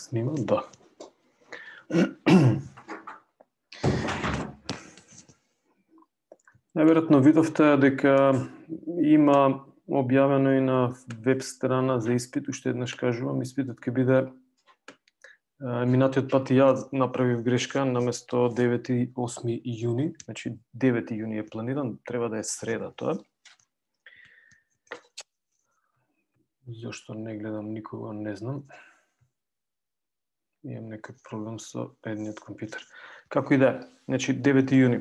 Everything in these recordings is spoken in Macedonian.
Снима, да. Најверојатно видовте дека има објавено и на веб страна за испит, уште еднаш кажувам, испитот ќе биде минатиот пат и ја направив грешка, наместо 9 и 8 јуни, значи 9 јуни е планиран, треба да е среда тоа. Зошто не гледам никого, не знам. Имам некој проблем со едниот компјутер. Како и да е, значи 9 јуни,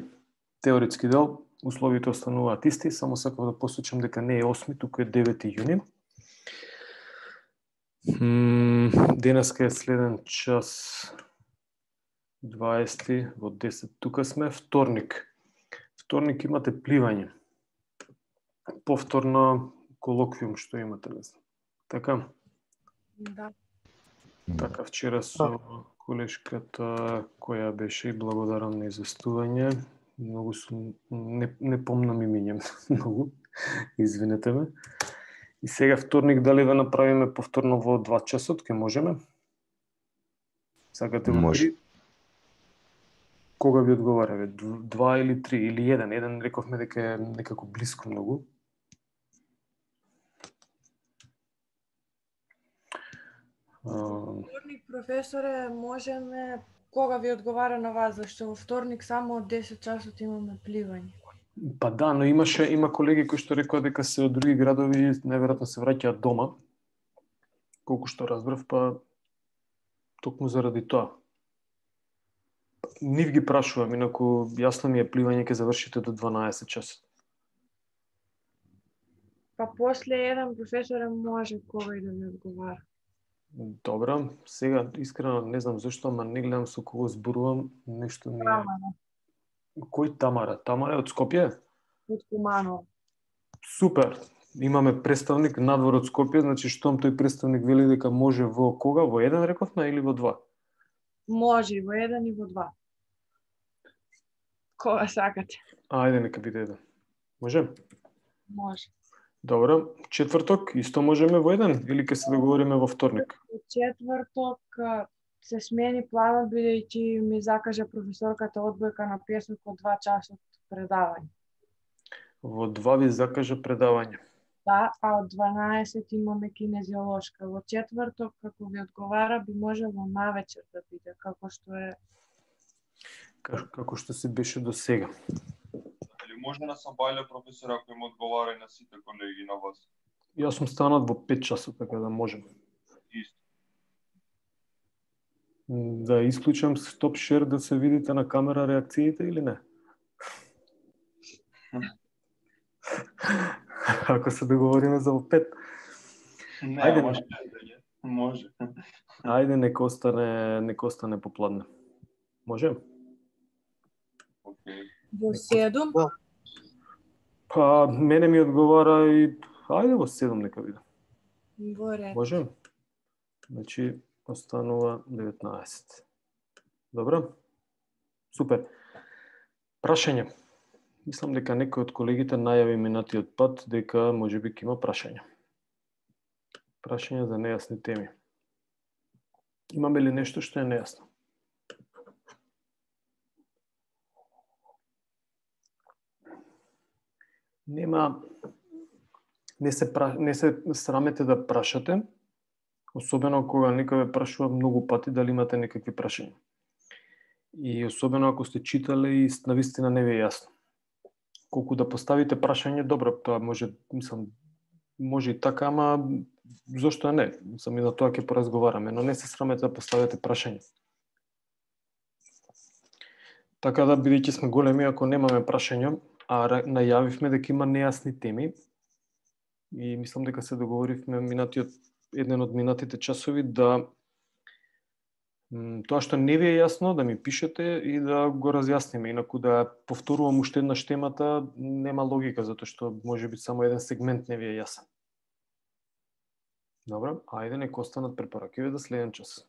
теоретски дел, условите остануваат исти, само сакав да посочам дека не е 8, туку е 9 јуни. Денеска е следен час 20 во 10. Тука сме вторник. Вторник имате пливање. Повторно колоквиум што имате, не знам. Така? Да. Така, вчера со колешката која беше и благодарам на известување. Многу сум, не помнам имиња многу, извинете ме. И сега вторник дали да направиме повторно во 2 часот, ке можеме? Сакате во 3? Кога ви одговара? 2 или 3 или 1? Еден рековме дека е некако блиско многу. Вторник, професоре, можеме кога ви одговара на вас, зашто во вторник само од 10 часот имаме пливање. Па да, но има колеги кои што рекоа дека се од други градови, најверојатно се враќаат дома. Колку што разбрав, па токму заради тоа. Нив ги прашувам, инаку јасно ми е пливање ќе завршите до 12 часот. Па после еден професоре може кога и да ви одговара. Добра, сега искрено не знам зашто, ама не гледам со кого зборувам, нешто ми е... Тамара. Кој Тамара? Тамара е од Скопје? Од Куманово. Супер! Имаме представник надвор од Скопје, значи штом тој представник вели дека може во кога? Во еден рековме или во 2? Може и во еден и во 2. Кога сакате. Ајде, нека биде еден. Може? Може. Добро, четврток исто можеме во еден или ќе се договориме во вторник? Во четврток се смени планот бидејќи ми закажа професорката одбојка на песок од 2 часот предавање. Во 2 ви закажа предавање. Да, а од 12 имаме кинезиолошка. Во четврток, како ви одговара, би можело навечер да биде, како што е... Како што се беше до сега. Или може на Сабајле, професор, ако им одговара и на сите колеги на вас? Јас сум станат во 5 часот, така да можем. Исто. Да исклучам стоп шер да се видите на камера реакциите или не? Ако се договориме за во 5. Не, Ајде, може. Ајде, нека остане попладне. Може? Океј. Во 7? Па, мене ми одговара и... Ајде во 7 нека биде. Во ред. Може? Значи, останува 19. Добро? Супер. Прашање. Мислам дека некој од колегите најави минатиот пат дека можеби ќе има прашање. Прашање за нејасни теми. Имаме ли нешто што е нејасно? Не се срамете да прашате, особено кога некој ве прашува многу пати дали имате некакви прашања. И особено ако сте читале и навистина не ви е јасно. Колку да поставите прашање, добро, тоа може и така, ама зошто не? Сами на тоа ќе поразговараме, но не се срамете да поставите прашање. Така да, бидејќи сме големи, ако немаме прашања, а најавивме дека има нејасни теми, и мислам дека се договоривме еден од минатите часови да тоа што не ви е јасно, да ми пишете и да го разјасниме. Инаку да повторувам уште еднаш темата, нема логика, затоа што може би само еден сегмент не ви е јасен. Добро, ајде нека останат препоракиве за следен час.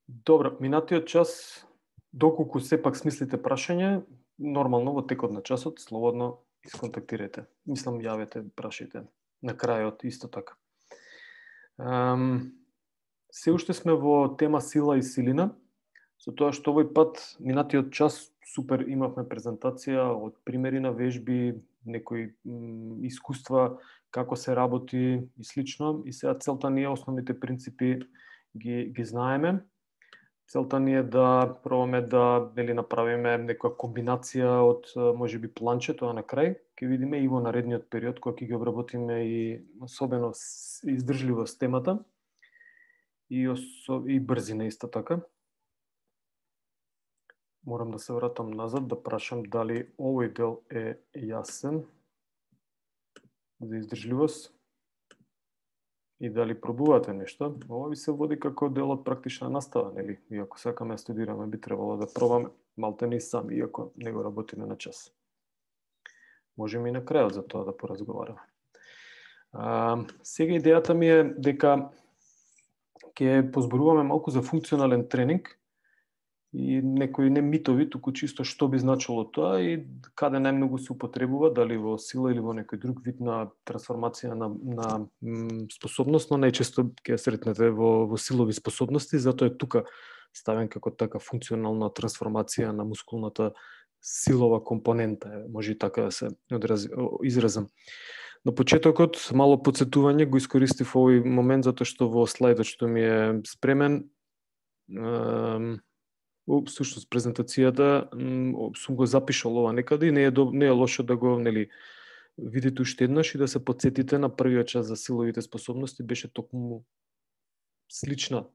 Добро, минатиот час, доколку сепак смислите прашање, нормално во текот на часот, слободно исконтактирате. Мислам, јавете, прашајте. На крајот, исто така. Се уште сме во тема сила и силина, со тоа што овој пат, минатиот час, супер имавме презентација од примери на вежби, некои искуства, како се работи и слично, и сега целта ни е основните принципи ги знаеме. Целта ни е да пробаме да направиме некоја комбинација од можеби планче, тоа на крај ќе видиме и во наредниот период кога ќе ги обработиме и особено издржливост темата и брзина исто така. Морам да се вратам назад да прашам дали овој дел е јасен за издржливост и дали пробувате нешто. Ова би се води како дел од практична настава, нели? Иако сакаме да студираме, би требало да пробаме малтени сами, иако не го работиме на час. Можеме и на крајот за тоа да поразговараме. Сега идејата ми е дека ќе позборуваме малку за функционален тренинг и некои не митови, туку чисто што би значило тоа и каде најмногу се употребува, дали во сила или во некој друг вид на трансформација на способност, но најчесто ќе сретнете во силови способности, затоа е тука ставен како така функционална трансформација на мускулната силова компонента, може и така да се изразам. На почетокот, мало подсетување, го искористив овој момент, затоа што во слайдот што ми е спремен, всушност презентацијата сум го запишал ова некаде и не е лошо да го видите уште еднаш и да се подсетите на првиот час за силовите способности, беше токму слична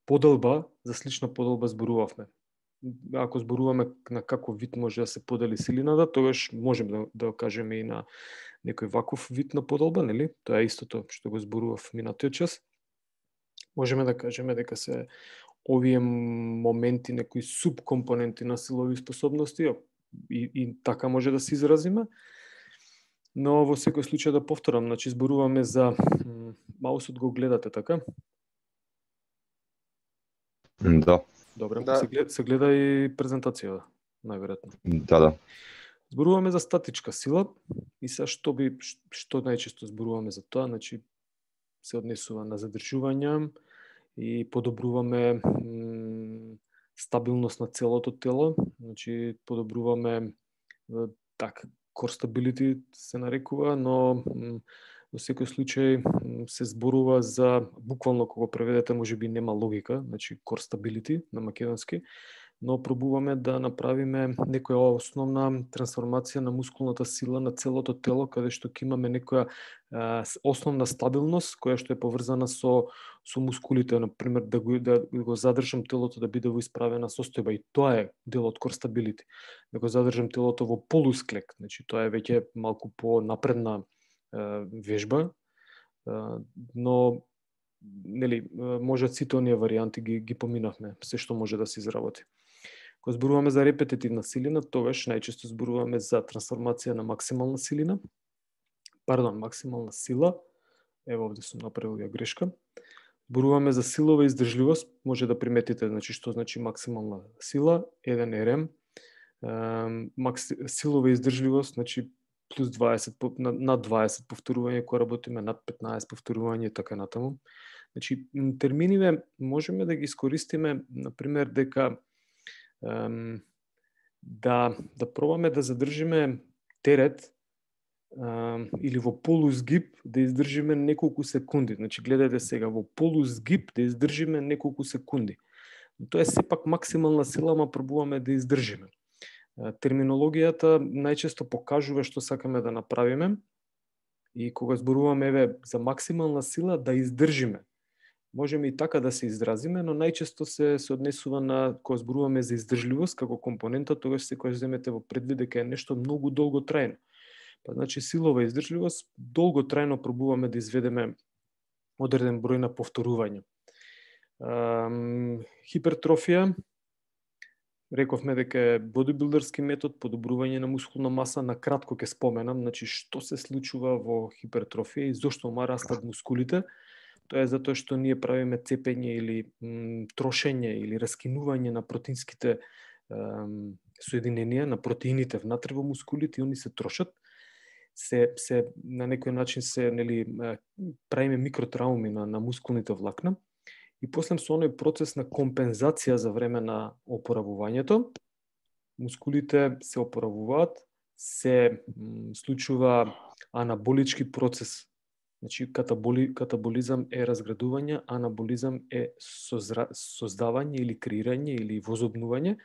поделба, за слична поделба зборувавме. Ако зборуваме на каков вид може да се подели силината, тогаш можеме да кажеме и на некој ваков вид на поделба, нели? Тоа е истото што го зборував минатиот час. Можеме да кажеме дека се овие моменти, некои субкомпоненти на силови способности и така може да се изразиме. Но во секој случај да повторам, значи зборуваме за маусот го гледате, така? Да. Добре, да. Се гледа и презентацијата, најверојатно. Да. Зборуваме за статичка сила и сега што најчесто зборуваме за тоа, значи се однесува на задржување и подобруваме стабилност на целото тело, значи подобруваме core stability се нарекува, но во секој случај се зборува за, буквално кога преведете можеби нема логика, значи core stability на македонски, но пробуваме да направиме некоја основна трансформација на мускулната сила на целото тело, каде што ќе имаме некоја основна стабилност, која што е поврзана со мускулите, например, да го задржам телото да биде во исправена состојба, и тоа е дел од core stability. Да го задржам телото во полусклек, значи тоа е веќе малку по-напредна вежба, но нели можат сите оние варијанти ги поминавме, се што може да се изработи. Кога зборуваме за репетитивна силина, тогаш најчесто зборуваме за трансформација на максимална сила. Ево овде сум направил ја грешка. Зборуваме за силова издржливост, може да приметите, значи што значи максимална сила, 1 РМ. Силова издржливост, значи плюс 20, над 20 повторување, кога работиме над 15 повторување и така натаму. Значи, терминиве можеме да ги искористиме, например, дека да пробаме да задржиме терет или во полузгиб да издржиме неколку секунди. Значи, гледате сега, во полузгиб да издржиме неколку секунди. Но тоа е сепак максимална сила, ама пробуваме да издржиме. Терминологијата најчесто покажува што сакаме да направиме и кога зборуваме за максимална сила да издржиме. Можеме и така да се изразиме, но најчесто се однесува на кога зборуваме за издржливост како компонента, тогаш секогаш земете во предвид дека е нешто многу долготрајно. Па значи силова издржливост долготрајно пробуваме да изведеме одреден број на повторувања. Хипертрофија, рековме дека е бодибилдерски метод, подобрување на мускулна маса, на кратко ќе споменам, значи што се случува во хипертрофија и зошто растат мускулите. Тоа е затоа што ние правиме цепење или трошење или раскинување на протеинските соединенија, на протеините внатре во мускулите, и они се трошат. На некој начин се правиме микротрауми на мускулните влакна. и после со оној процес на компензација за време на опоравувањето, мускулите се опоравуваат, се случува анаболички процес. Значи, катаболизам е разградување, анаболизам е создавање или креирање или возобнување.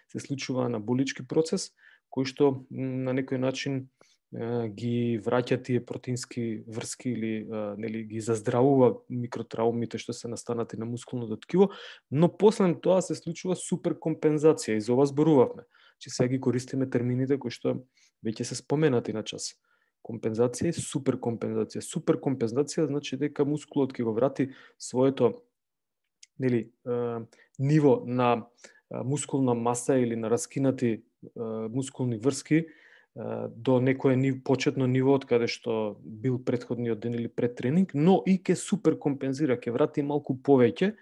Се случува анаболички процес, кој што на некој начин ги враќа тие протеински врски или нели ги заздравува микротраумите што се настанати на мускулното ткиво, но после тоа се случува суперкомпензација и за ова зборувавме. Че сега ги користиме термините кои што веќе се споменати на час. Компензација и суперкомпензација. Суперкомпензација значи дека мускулот ќе го врати своето нели ниво на мускулна маса или на раскинати мускулни врски до некое почетно ниво од каде што бил претходниот ден или пред тренинг, но и ќе суперкомпензира, ќе врати малку повеќе,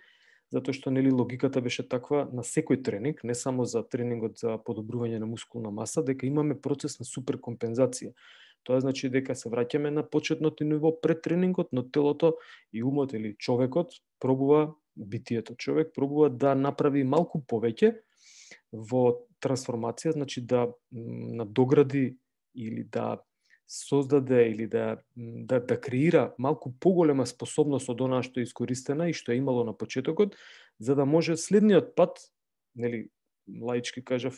затоа што нели логиката беше таква на секој тренинг, не само за тренингот за подобрување на мускулна маса, дека имаме процес на суперкомпензација. Тоа значи дека се враќаме на почетното ниво пред тренингот, но телото и умот или човекот пробува, битието човек пробува да направи малку повеќе во трансформација, значи да надогради или да создаде или да креира малку поголема способност од онаа што е искористена и што е имало на почетокот, за да може следниот пат, нели лаички кажав,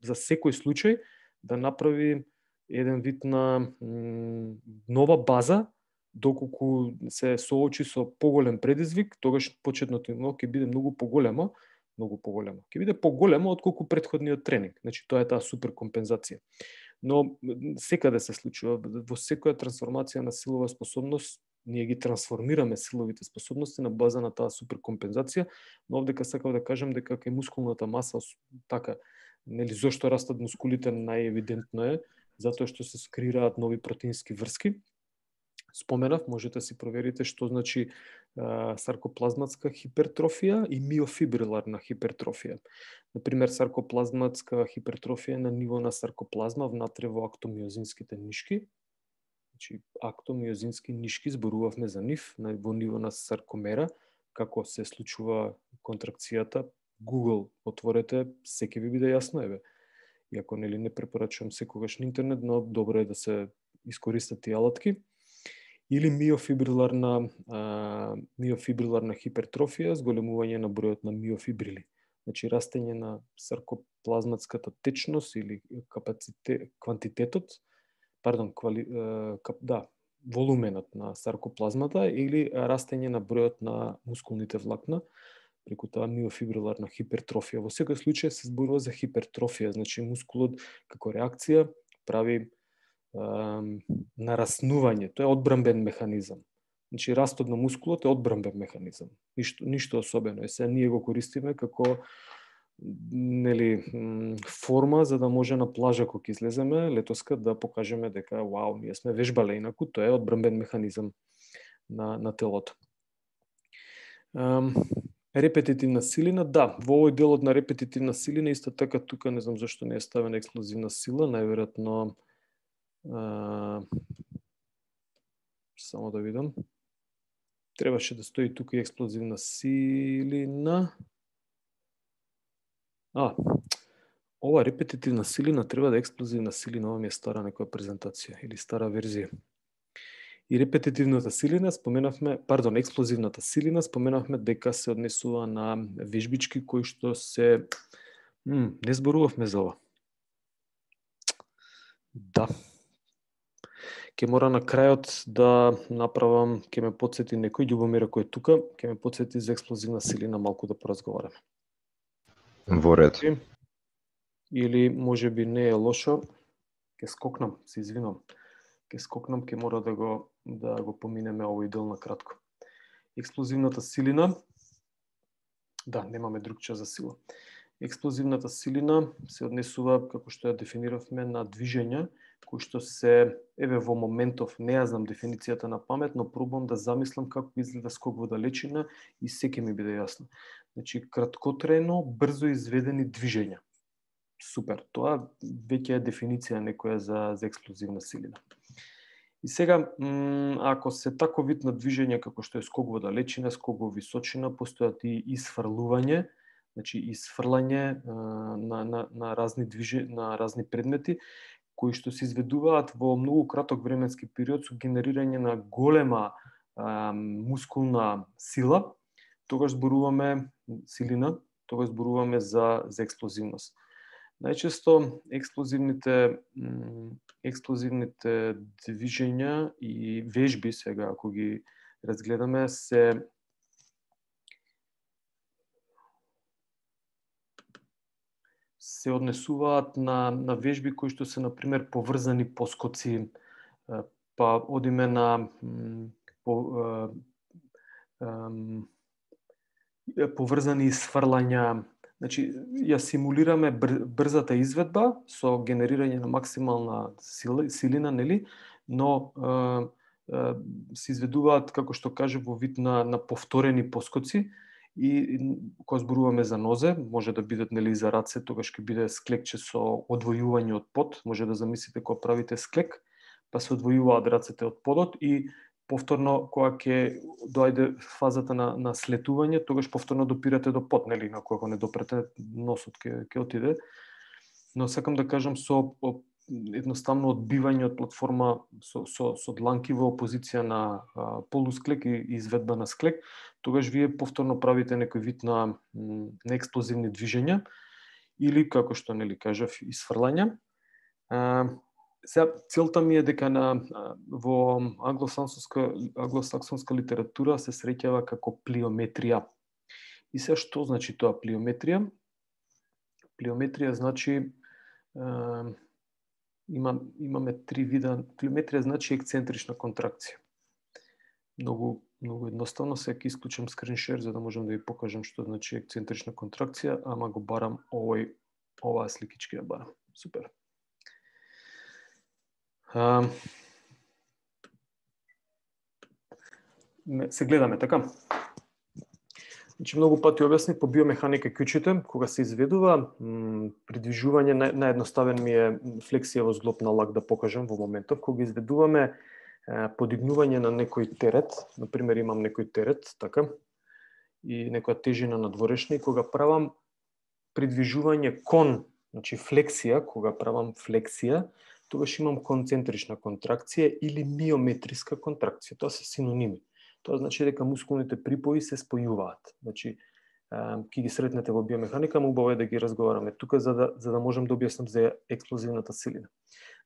за секој случај да направи еден вид на нова база, доколку се соочи со поголем предизвик, тогаш почетното ниво ќе биде многу поголемо. Ќе биде поголемо отколку претходниот тренинг. Значи тоа е таа суперкомпензација. Но секаде се случува, во секоја трансформација на силова способност, ние ги трансформираме силовите способности на база на таа суперкомпензација, но овдека сакав да кажам дека кај мускулната маса така, нели зошто растат мускулите најевидентно е затоа што се скрираат нови протеински врски. Споменав, можете си проверите што значи саркоплазматска хипертрофија и миофибриларна хипертрофија. Например, саркоплазматска хипертрофија на ниво на саркоплазма внатре во актомиозинските нишки. Значи, актомиозински нишки, зборувавме за нив, во ниво на саркомера, како се случува контракцијата. Google отворете, секи ви биде јасно, еве. Иако нели не препорачувам секогаш на интернет, но добро е да се искористат тие алатки. Или миофибриларна хипертрофија, зголемување на бројот на миофибрили. Значи растење на саркоплазматската течност или волуменот на саркоплазмата или растење на бројот на мускулните влакна преку таа миофибриларна хипертрофија. Во секој случај се зборува за хипертрофија, значи мускулот како реакција прави нараснување, тоа е одбрамбен механизам. Значи растот на мускулот е одбрамбен механизам. Ништо особено. Сега ние го користиме како нели форма за да може на плажа кога излеземе летоска да покажеме дека вау, ние сме вежбале, инаку тоа е одбрамбен механизам на телото. Репетитивна силина, да, во овој делот на репетитивна силина исто така тука не знам зашто не е ставена експлозивна сила, најверојатно само да видам. Требаше да стои тука и експлозивна силина. Ова репетитивна силина треба да е експлозивна силина, ова ми е стара некоја презентација или стара верзија. И репетитивната силина експлозивната силина споменавме дека се однесува на вежбички кои што се не зборувавме за ова. Да. Ке мора на крајот да направам, ке ме подсети некој, Љубомир кој е тука, ке ме подсети за експлозивна силина малку да поразговараме. Во ред. Или може би не е лошо, ке скокнам, се извинувам. Ке мора да го поминеме овој дел на кратко. Експлозивната силина, да, немаме друг час за сила. Експлозивната силина се однесува, како што ја дефиниравме, на движења кои што се, во моментов, не ја знам дефиницијата на памет, но пробувам да замислам како изгледа скок во далечина и секи ми биде јасно. Значи, краткотрено, брзо изведени движења. Супер, тоа веќе е дефиниција некоја за експлозивна силина. И сега, ако се таков вид на движење како што е скок во далечина, скок во височина, постојат и исфрлување, значи исфрлање на разни предмети, кои што се изведуваат во многу краток временски период со генерирање на голема мускулна сила, тогаш зборуваме силина, тогаш зборуваме за експлозивност. Најчесто експлозивните движења и вежби, сега ако ги разгледаме, се однесуваат на вежби кои што се, например, поврзани поскоци, па одиме на поврзани исфрлања. Значи, ја симулираме брзата изведба со генерирање на максимална силина, нели? Но се изведуваат, како што кажа, во вид на повторени поскоци, и кога зборуваме за нозе, може да бидат, нели, за раце, тогаш ќе биде склекче со одвојување од под. Може да замислите кога правите склек, па се одвојуваат рацете од подот и повторно, кога ќе доајде фазата на слетување, тогаш повторно допирате до под, нели, на кога не допрете, носот ќе отиде. Но сакам да кажам, со едноставно одбивање од платформа со дланки во позиција на полусклек и изведба на склек, тогаш вие повторно правите некој вид на експлозивни движења или, како што, нели, кажав, исфрлања. Сега, целта ми е дека во англосаксонска литература се среќава како плиометрија. И сега, што значи тоа плиометрија? Плиометрија значи, имаме три вида. Плиометрија значи ексцентрична контракција. Многу едноставно, сега ќе исклучам скриншер за да можам да ви покажам што значи ексцентрична контракција, ама го барам оваа сликичка ја барам. Супер. Се гледаме, така? Значи, многу пати објасни по биомеханика клучите, кога се изведува придвижување, наједноставен ми е флексија во зглоб на лак да покажам во моментов, кога изведуваме подигнување на некој терет, например имам некој терет, така, и некоја тежина надворешна, и кога правам придвижување кон, значи флексија, кога правам флексија, тогаш имам концентрична контракција или миометриска контракција. Тоа се синоними. Тоа значи дека мускулните припои се спојуваат. Значи, ќе ги сретнете во биомеханика, му убаво е да ги разговараме тука за да можам да објаснам за експлозивната силина.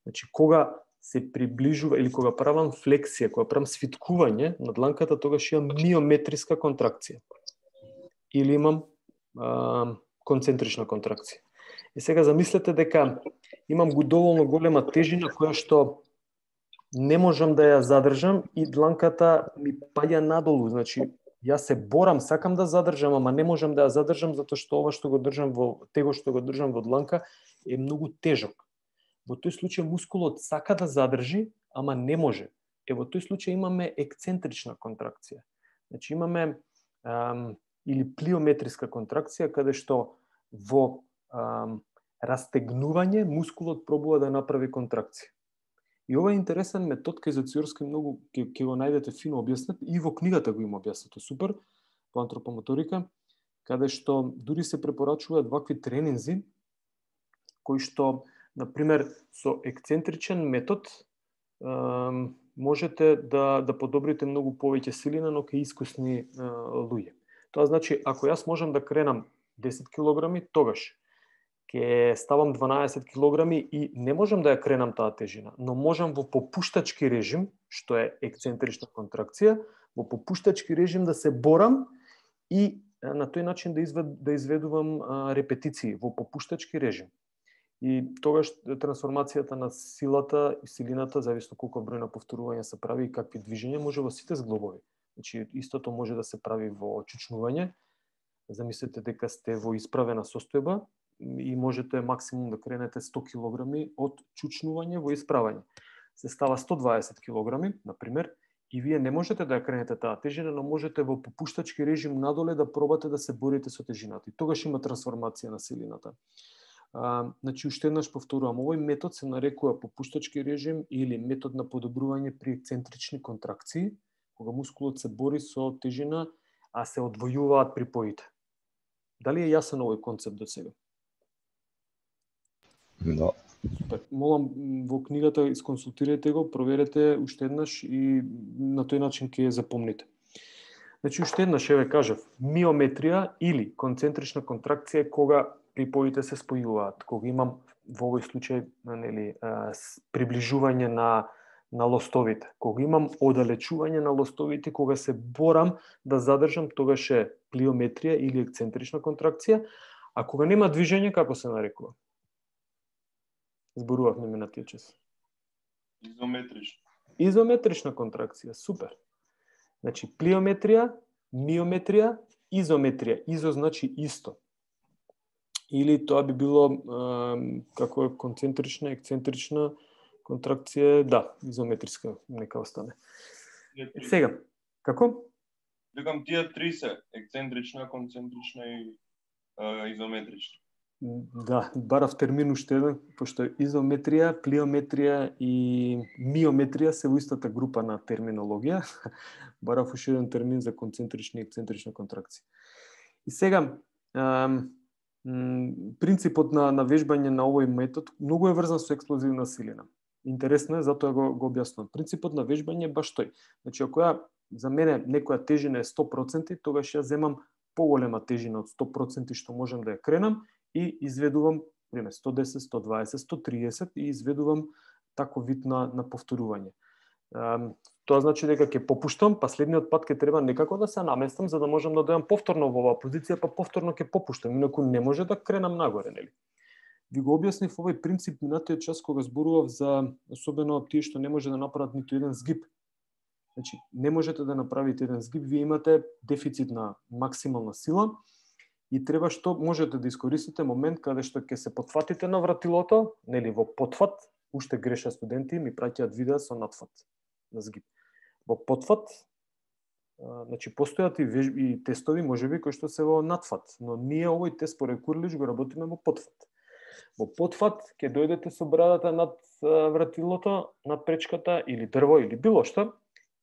Значи, кога се приближува или кога правам флексија, кога правам свиткување на дланката, тогаш имам миометриска контракција. Или имам концентрична контракција. И сега замислете дека имам доволно голема тежина која што не можам да ја задржам и дланката ми паѓа надолу. Значи, јас се борам, сакам да задржам, ама не можам да ја задржам затоа што ова што го држам што го држам во дланка е многу тежок. Во тој случај мускулот сака да задржи, ама не може. Во тој случај имаме ексцентрична контракција. Значи имаме или плиометриска контракција, каде што во растегнување мускулот пробува да направи контракција. И ова е интересен метод, кај Зациорски многу ќе го најдете фино објаснет, и во книгата го има објаснето супер, по антропомоторика, каде што дури се препорачуваат вакви тренинзи, кои што, например, со ексцентричен метод можете да подобрите многу повеќе силина, но кај искусни луѓе. Тоа значи, ако јас можам да кренам 10 килограми, тогаш ќе ставам 12 килограми и не можам да ја кренам таа тежина, но можам во попуштачки режим, што е ексцентрична контракција, во попуштачки режим да се борам и на тој начин да изведувам репетиции во попуштачки режим. И тогаш трансформацијата на силата и силината, зависно колку број на повторувања се прави и какви движења, може во сите зглобови. Значи, истото може да се прави во чучнување. Замислете дека сте во исправена состојба и можете максимум да кренете 100 килограми од чучнување во исправање. Се става 120 килограми, например, и вие не можете да ја кренете таа тежина, но можете во попуштачки режим надоле да пробате да се борите со тежината. И тогаш има трансформација на силината. Значи, уште еднаш повторувам, овој метод се нарекува попуштачки режим или метод на подобрување при ексцентрични контракции, кога мускулот се бори со тежина, а се одвојуваат припоите. Дали е јасен овој концепт до сега? Да. Супер. Молам, во книгата исконсултирајте го, проверете уште еднаш и на тој начин ќе ја запомните. Значи, уште еднаш ќе ве кажав, миометрија или концентрична контракција е кога припоите се спојуваат, кога имам во овој случај приближување на лостовите, кога имам оддалечување на лостовите, кога се борам да задржам, тогаш е плиометрија или ексцентрична контракција, а кога нема движење, како се нарекува? Зборувавме минатиот час. Изометрична. Изометрична контракција, супер. Значи, плиометрија, миометрија, изометрија. Изо значи исто. Или тоа би било како е концентрична, ексцентрична контракција, да, изометриска, нека остане. Сега, како? Викам тие три се, ексцентрична, концентрична и изометрична. Да, барав термин уште еден, пошто изометрија, плиометрија и миометрија се во истата група на терминологија. Барав уште еден термин за концентрична и ексцентрична контракција. И сега, принципот на вежбање на овој метод многу е врзан со експлозивна силина. Интересно е, затоа го објаснувам. Принципот на вежбање е баш тој. Значи, ако за мене некоја тежина е 100%, тогаш ја земам поголема тежина од 100% што можам да ја кренам и изведувам, пример, 110, 120, 130 и изведувам таков вид на повторување. Тоа значи дека ќе попуштам, па следниот пат ќе треба некако да се наместам за да можам да дојам повторно во оваа позиција, па повторно ќе попуштам, инаку не може да кренам нагоре, нели? Ви го објаснив овој принцип минатиот час кога зборував за особено тие што не може да направат ниту еден згиб. Значи, не можете да направите еден згиб, вие имате дефицит на максимална сила и треба што можете да искористите момент каде што ќе се потфатите на вратилото, нели во потфат, уште греша студенти, ми праќаат видеа со надфат на згиб. Во потфат, значи постојат и тестови можеби кои што се во надфат, но ние овој тест по Курлич го работиме во потфат. Во потфат ќе дојдете со брадата над вратилото, над пречката или дрво или било што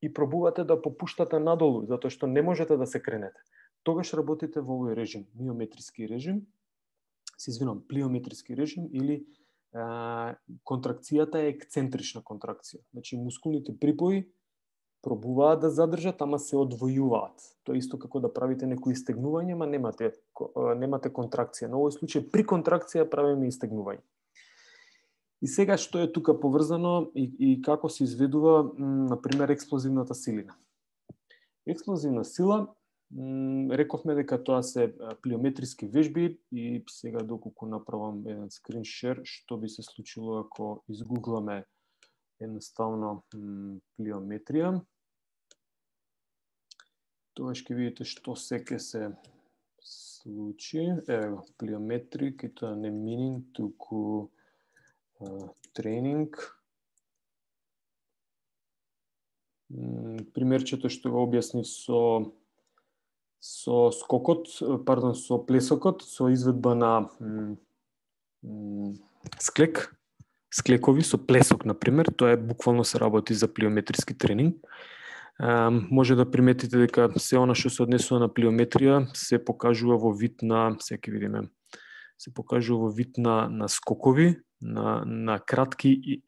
и пробувате да попуштате надолу, затоа што не можете да се кренете. Тогаш работите во овој режим, миометриски режим, се извинувам, плиометриски режим или контракцијата е ексцентрична контракција. Значи мускулните припои пробуваат да задржат, ама се одвојуваат. Тоа исто како да правите некои истегнување, ама немате контракција. На овој случај при контракција правиме истегнување. И сега што е тука поврзано и како се изведува, например, експлозивната силина. Експлозивна сила, рековме дека тоа се плиометриски вежби и сега доколку направам еден скрин шер, што би се случило ако изгугламе едноставно плиометрија. Тоа ќе видите што се ќе се случи. Ево, плиометрик, и тоа не мининг, туку тренинг. Примерчето што го објаснив со скокот, пардон, со плесокот, со изведба на склекови со плесок, например, тоа е буквално се работи за плиометриски тренинг. Може да приметите дека се она што се однесува на плиометрија се покажува во вид на, сега видиме, се покажува во вид на скокови, на кратки и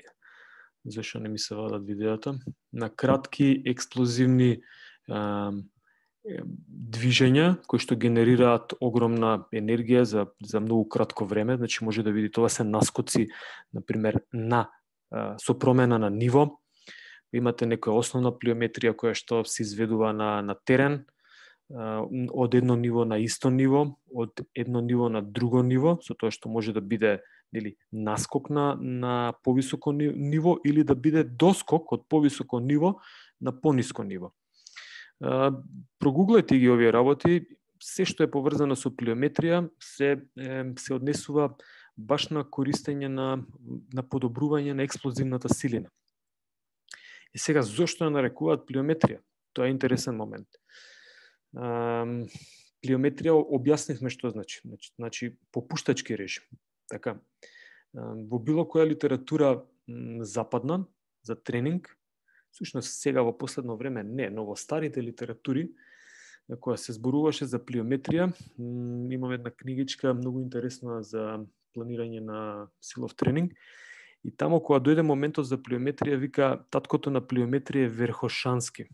зашо не ми се вадат видеата, на кратки експлозивни движења кои што генерираат огромна енергија за многу кратко време, значи може да видите, това се наскоци, например, со промена на ниво. Имате некоја основна плиометрија која што се изведува на терен, од едно ниво на исто ниво, од едно ниво на друго ниво, со тоа што може да биде или наскок на повисоко ниво или да биде доскок од повисоко ниво на пониско ниво. Прогуглајте ги овие работи, се што е поврзано со плиометрија се однесува баш на користење на подобрување на експлозивната силина. И сега, зошто ја нарекуваат плиометрија? Тоа е интересен момент. Плиометрија објаснивме што значи. Значи, попуштачки режим. Така, во било која литература западна за тренинг, всушност сега во последно време не, но во старите литератури, која се зборуваше за плиометрија, имам една книгичка многу интересна за планирање на силов тренинг. И тамо кога дојде моментот за плиометрија, вика таткото на плиометрија е Верхошански.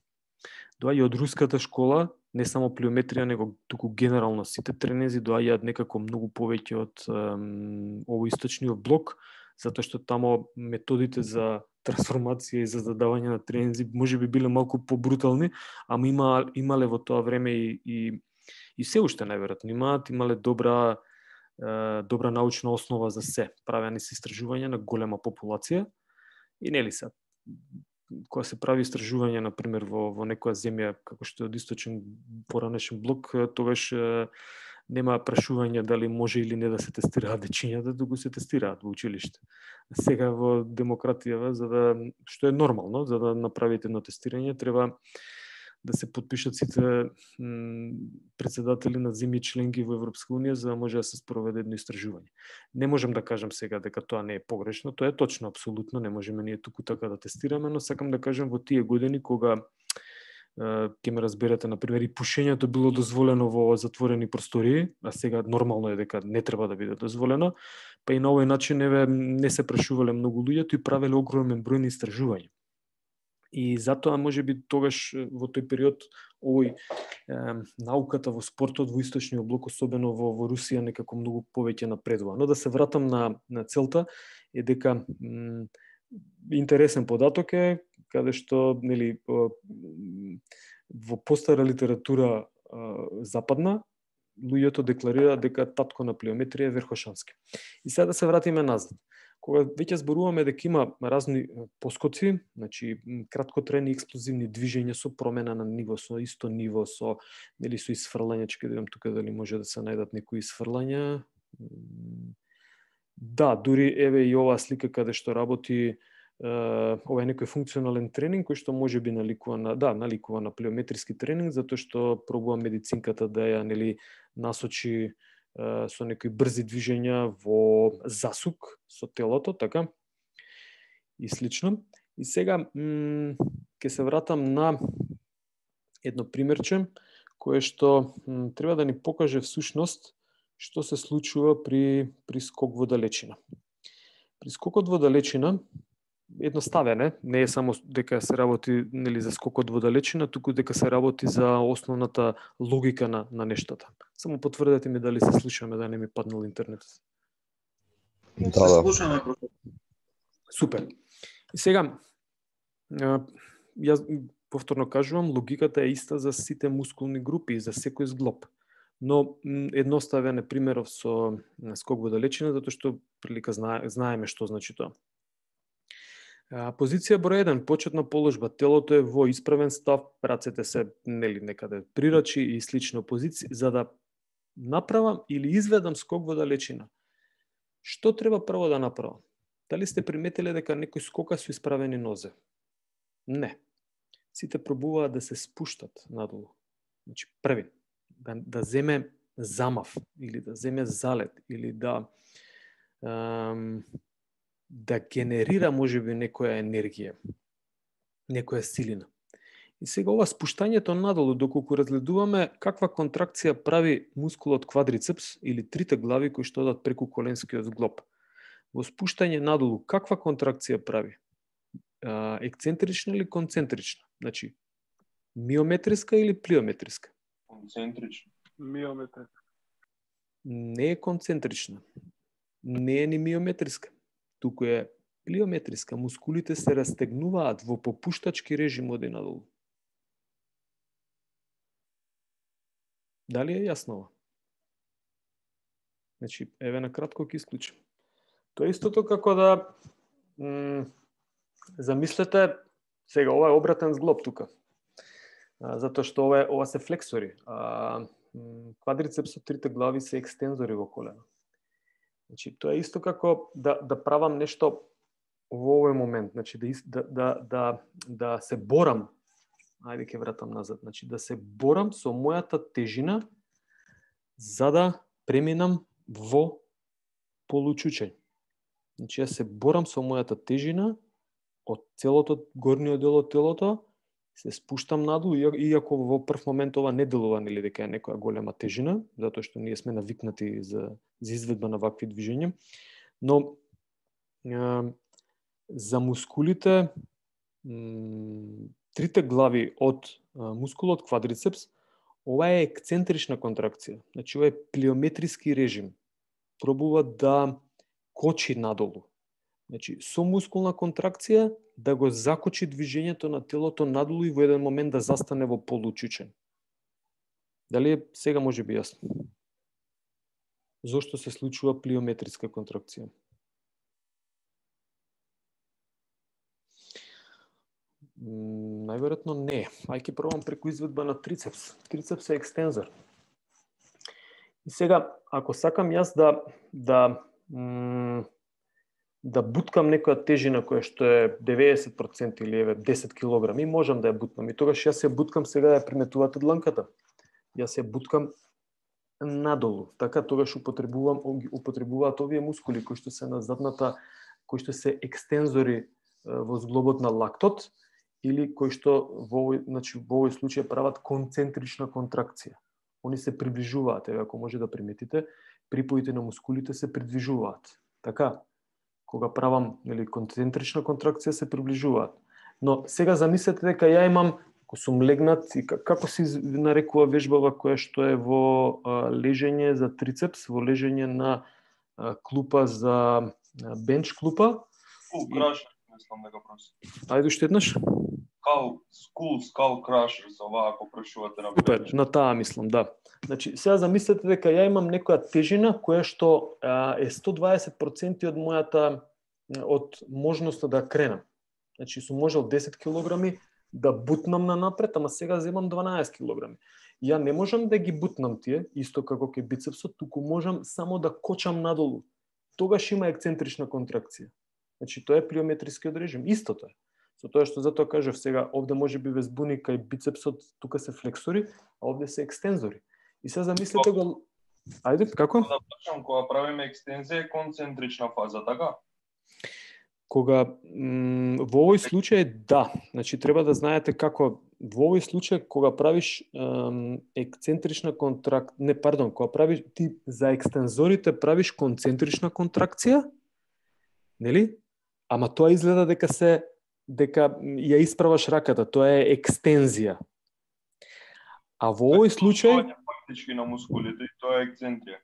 Доаѓа од руската школа, не само плиометрија, него туку генерално сите тренинзи доаѓаат некако многу повеќе од овоисточниот блок, затоа што тамо методите за трансформација и за задавање на тренинзи можеби биле малку побрутални, ама имале во тоа време и се уште најверојатно имале добра научна основа за се. Правени се истражувања на голема популација и нели се кога се прави истражување на пример во некоја земја како што е од источен поранешен блок, тогаш нема прашување дали може или не да се тестираат дечињата, туку се тестираат во училиште. Сега во демократија, што е нормално, за да направите едно тестирање, треба да се подпишат сите председатели на земји членки во Европска унија за да може да се спроведе едно истражување. Не можам да кажам сега дека тоа не е погрешно, тоа е точно, апсолутно, не можеме ние туку така да тестираме, но сакам да кажам во тие години кога ќе ме разберете, например, и пушењето било дозволено во затворени простории, а сега нормално е дека не треба да биде дозволено, па и на овој начин не се прашувале многу луѓето и правеле огромен број на истражувања. И затоа можеби тогаш во тој период овој науката во спортот во источниот блок, особено во Русија, некако многу повеќе напредува. Но да се вратам на целта е дека интересен податок е каде што нели во постара литература западна луѓето декларираат дека татко на плиометрија е Верхошански. И сега да се вратиме назад. Кога веќе зборуваме дека има разни поскоци, значи краткотрайни експлозивни движења со промена на ниво, со исто ниво, со исфрлање, ќе видам тука дали може да се најдат некои исфрлања. Да, дури еве и оваа слика каде што работи ова е некој функционален тренинг кој што можеби наликува на плиометриски тренинг, затоа што пробува медицинката да ја насочи со некои брзи движења во засук со телото, така и слично. И сега ќе се вратам на едно примерче кое што треба да ни покаже всушност што се случува при скок во далечина. При скокот во далечина едноставен не е само дека се работи за скокот во далечина, туку дека се работи за основната логика на нештата. Само потврдете ми дали се слушаме, да не ми паднал интернетот. Да. Слушаме. Супер. И сега, јас повторно кажувам, логиката е иста за сите мускулни групи, за секој зглоб. Но едноставен е примеров со скок во далечина, затоа што прилика знаеме што значи тоа. Позиција број 1, почетна положба, телото е во исправен став, рацете се некаде прирачи и слично позиција, за да направам или изведам скок во далечина. Што треба прво да направам? Дали сте приметиле дека некој скока со исправени нозе? Не. Сите пробуваат да се спуштат надолу. Значи, први, да земе замав, или да земе залет, или да генерира можеби некоја енергија, некоја силина. И сега ова спуштањето надолу, доколку разгледуваме каква контракција прави мускулот квадрицепс или трите глави кои што одат преку коленскиот зглоб. Во спуштање надолу, каква контракција прави? Ексцентрична или концентрична? Значи, миометриска или плиометриска? Концентрична. Миометриска. Не е концентрична. Не е ни миометриска. Туку е плиометриска. Мускулите се растегнуваат во попуштачки режим оди надолу. Дали е јасно ова? Значи, еве на кратко ќе исклучам. Тоа е истото како да замислете, сега ова е обратен зглоб тука. Затоа што ова се флексори. Квадрицепсот, трите глави се екстензори во колено. Значи, тоа е исто како да правам нешто во овој момент, значи да се борам. Ајде ќе вратам назад. Значи да се борам со мојата тежина за да преминам во получучење. Значи, јас се борам со мојата тежина од целото горниот дел од телото, се спуштам надолу, иако во прв момент ова не делува нели дека е некоја голема тежина, затоа што ние сме навикнати за изведба на вакви движења, но за мускулите, трите глави од мускулот квадрицепс, ова е ексцентрична контракција. Значи, ова е плиометриски режим. Пробува да кочи надолу. Значи, со мускулна контракција да го закочи движењето на телото надолу и во еден момент да застане во получучен. Дали е сега може би јасно? Зошто се случува плиометриска контракција? Најверојатно не. Ајде пробам преку изведба на трицепс. Трицепс е екстензор. И сега, ако сакам јас да буткам некоја тежина која што е 90% или 10 килограми, можам да ја бутнам. И тогаш јас ја буткам, сега ја приметувате дланката. Јас ја буткам надолу. Така тогаш употребуваат овие мускули кои што се на задната, кои што се екстензори во зглобот на лактот или кои што во овој случај прават концентрична контракција. Они се приближуваат, ако може да приметите, припоите на мускулите се придвижуваат. Така, кога правам концентрична контракција се приближуваат. Но сега замислете дека ја имам, ако сум легнат, и како се нарекува вежбава која што е во лежење за трицепс, во лежење на клупа за бенч клупа. Крашер, мислам дека просто. Ајде уште еднаш. Skull crusher, за оваа ако прашувате на бенч. На таа мислам, да. Значи, сега замислете дека ја имам некоја тежина која што е 120% од мојата, од можноста да кренам. Значи, сум можел 10 килограми да бутнам на напред, ама сега земам 12 килограми. Ја не можам да ги бутнам тие, исто како ке бицепсот, туку можам само да кочам надолу. Тогаш има ексцентрична контракција. Значи, тоа е плиометрискиот режим. Истото е. Со тоа што затоа кажав сега, овде може би ве збуни кај бицепсот, тука се флексори, а овде се екстензори. И сега замислете го... Ајде, како? Да прашам, кога правиме екстензија е концентрична фаза, така? Кога во овој случај да, значи треба да знаете како во овој случај кога правиш ексцентрична кога правиш ти за екстензорите правиш концентрична контракција, нели? Ама тоа изгледа дека ја исправаш раката, тоа е екстензија. А во овој случај фактички на мускулите и тоа е ексцентрија.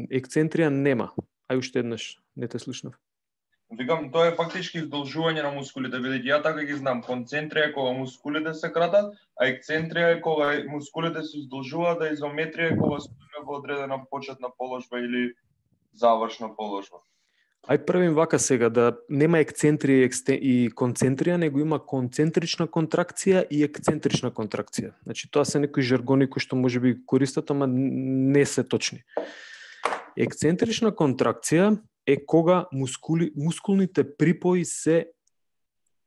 Ексцентрија нема. Ај уште еднаш, не те слушнав. Викам, тоа е фактички издолжување на мускулите, бидејќи ја така ги знам, концентрија е кога мускулите се кратат, а ексцентрија е кога мускулите се издолжуваат, а изометрија е кога стоиме во одредена почетна положба или завршна положба. Ајде правим вака сега, да нема ексцентрија и концентрија, него има концентрична контракција и ексцентрична контракција. Значи, тоа се некои жаргони кои што може би користат, ама не се точни. Ексцентрична контракција е кога мускулните припои се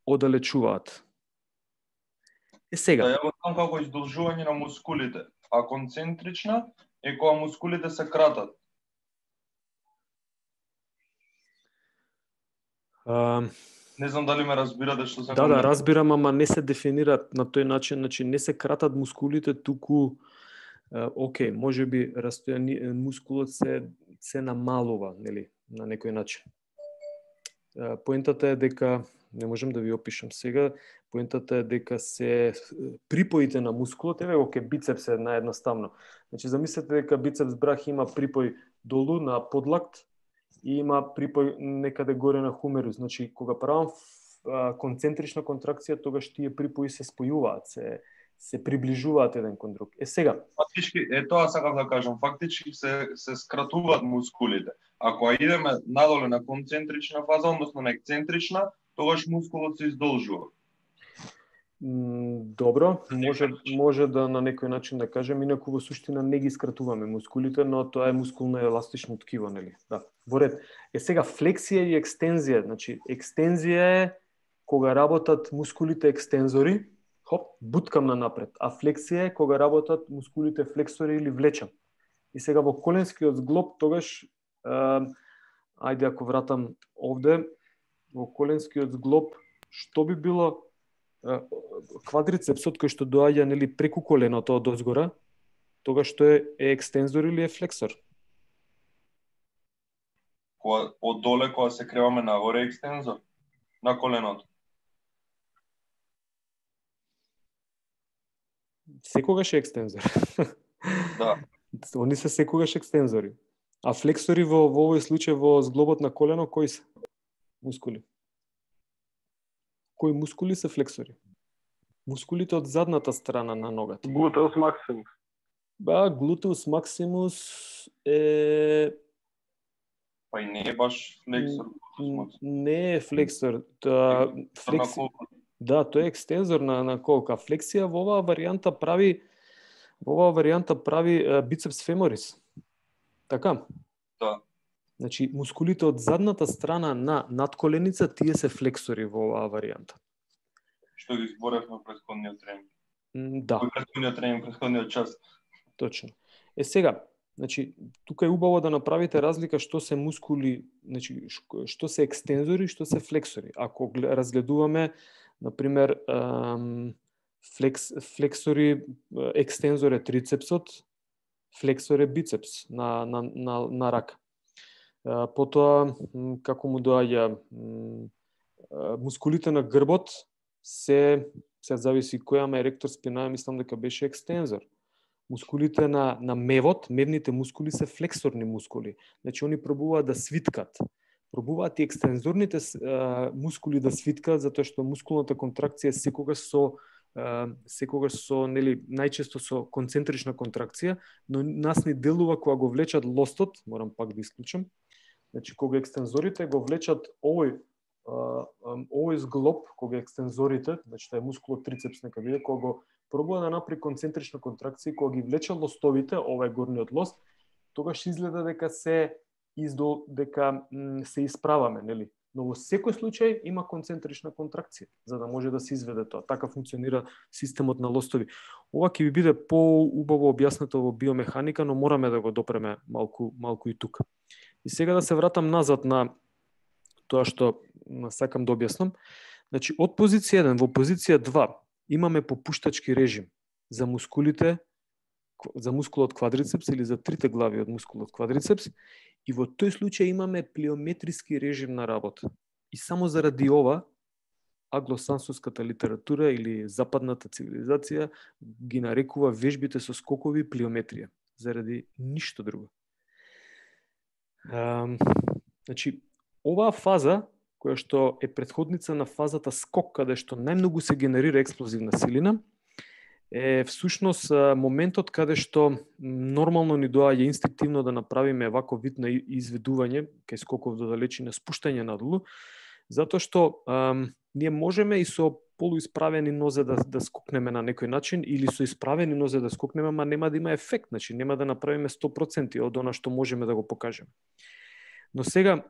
оддалечуваат. Сега. Да, ја го знам како издолжување на мускулите, а концентрична е кога мускулите се кратат. Не знам дали ме разбирате што се Да, разбирам, ама не се дефинираат на тој начин, значи не се кратат мускулите, туку може би мускулот се намалува, нели, на некој начин. Поентата е дека не можам да ви опишам сега, поентата е дека се припоите на мускулот, еве го ке бицепс е наједноставно. Значи замислете дека бицепс брах има припој долу на подлакт и има припој некаде горе на хумерус. Значи кога правам концентрична контракција, тогаш тие припои се спојуваат, се приближуваат еден кон друг. Сега. Фактички, тоа сакам да кажам, фактички се скратуваат мускулите. Ако идеме надоле на концентрична фаза, односно на ексцентрична, тогаш мускулот се издолжува. Добро, може да на некој начин да кажем, инаку во суштина не ги скратуваме мускулите, но тоа е мускулно еластично ткиво, нели? Да. Во ред. Сега флексија и екстензија, значи екстензија е кога работат мускулите екстензори, буткам на напред, а флексија е кога работат мускулите флексори или влечам. И сега во коленскиот зглоб тогаш Ајде, ако вратам овде, во коленскиот зглоб, што би било квадрицепсот кој што доаѓа нели преку коленото од озгора, тогаш што е екстензор или е флексор? Од доле кога се креваме нагоре екстензор на коленото. Секогаш е екстензор. Да. Они се секогаш екстензори. А флексори во овој случај во зглобот на колено кои се мускули? Кои мускули се флексори? Мускулите од задната страна на ногата. Глутеус максимус. Глутеус максимус е... Па и не е баш флексор. Не е флексор. Да, тој е екстензор на колка. Флексија во оваа варијанта прави бицепс феморис. Така? Да. Значи, мускулите од задната страна на надколеница, тие се флексори во оваа варијанта. Што ги зборевме претходниот тренинг. Да. Претходниот час. Точно. Сега, значи, тука е убаво да направите разлика што се мускули, значи, што се екстензори, што се флексори. Ако разгледуваме, например, флексори, екстензор е трицепсот, флексор е бицепс на рака. Потоа, како му доаѓа, мускулите на грбот се зависи која еректор спина, мислам дека беше екстензор. Мускулите на мевот, мевните мускули се флексорни мускули. Значи, они пробуваат да свиткат. Пробуваат и екстензорните мускули да свиткат, затоа што мускулната контракција секогаш со нели најчесто со концентрична контракција, но нас ни делува кога го влечат лостот, морам пак да исклучам. Значи, кога екстензорите го влечат овој зглоб, кога екстензорите, значи тоа е мускулот трицепс нека биде, кога го пробува да направи концентрична контракција, кога ги влече лостовите, ова е горниот лост, тогаш изгледа дека се исправаме, нели? Но во секој случај има концентрична контракција, за да може да се изведе тоа. Така функционира системот на лостови. Ова ќе ви биде поубаво објаснето во биомеханика, но мораме да го допреме малку и тука. И сега да се вратам назад на тоа што сакам да објаснам. Значи, од позиција 1 во позиција 2 имаме попуштачки режим за мускулите, за мускулот квадрицепс или за трите глави од мускулот квадрицепс, и во тој случај имаме плиометриски режим на работа. И само заради ова, англосаксонската литература или западната цивилизација ги нарекува вежбите со скокови плиометрија. Заради ништо друго. Значи, оваа фаза, која што е претходница на фазата скок, каде што најмногу се генерира експлозивна силина, е всушност моментот каде што нормално ни доаѓа инстинктивно да направиме ваков вид на изведување, кај скоков до далечина, спуштање надолу, затоа што ние можеме и со полуисправени нозе да скокнеме на некој начин, или со исправени нозе да скокнеме, ама нема да има ефект, значи нема да направиме 100% од она што можеме да го покажеме. Но сега,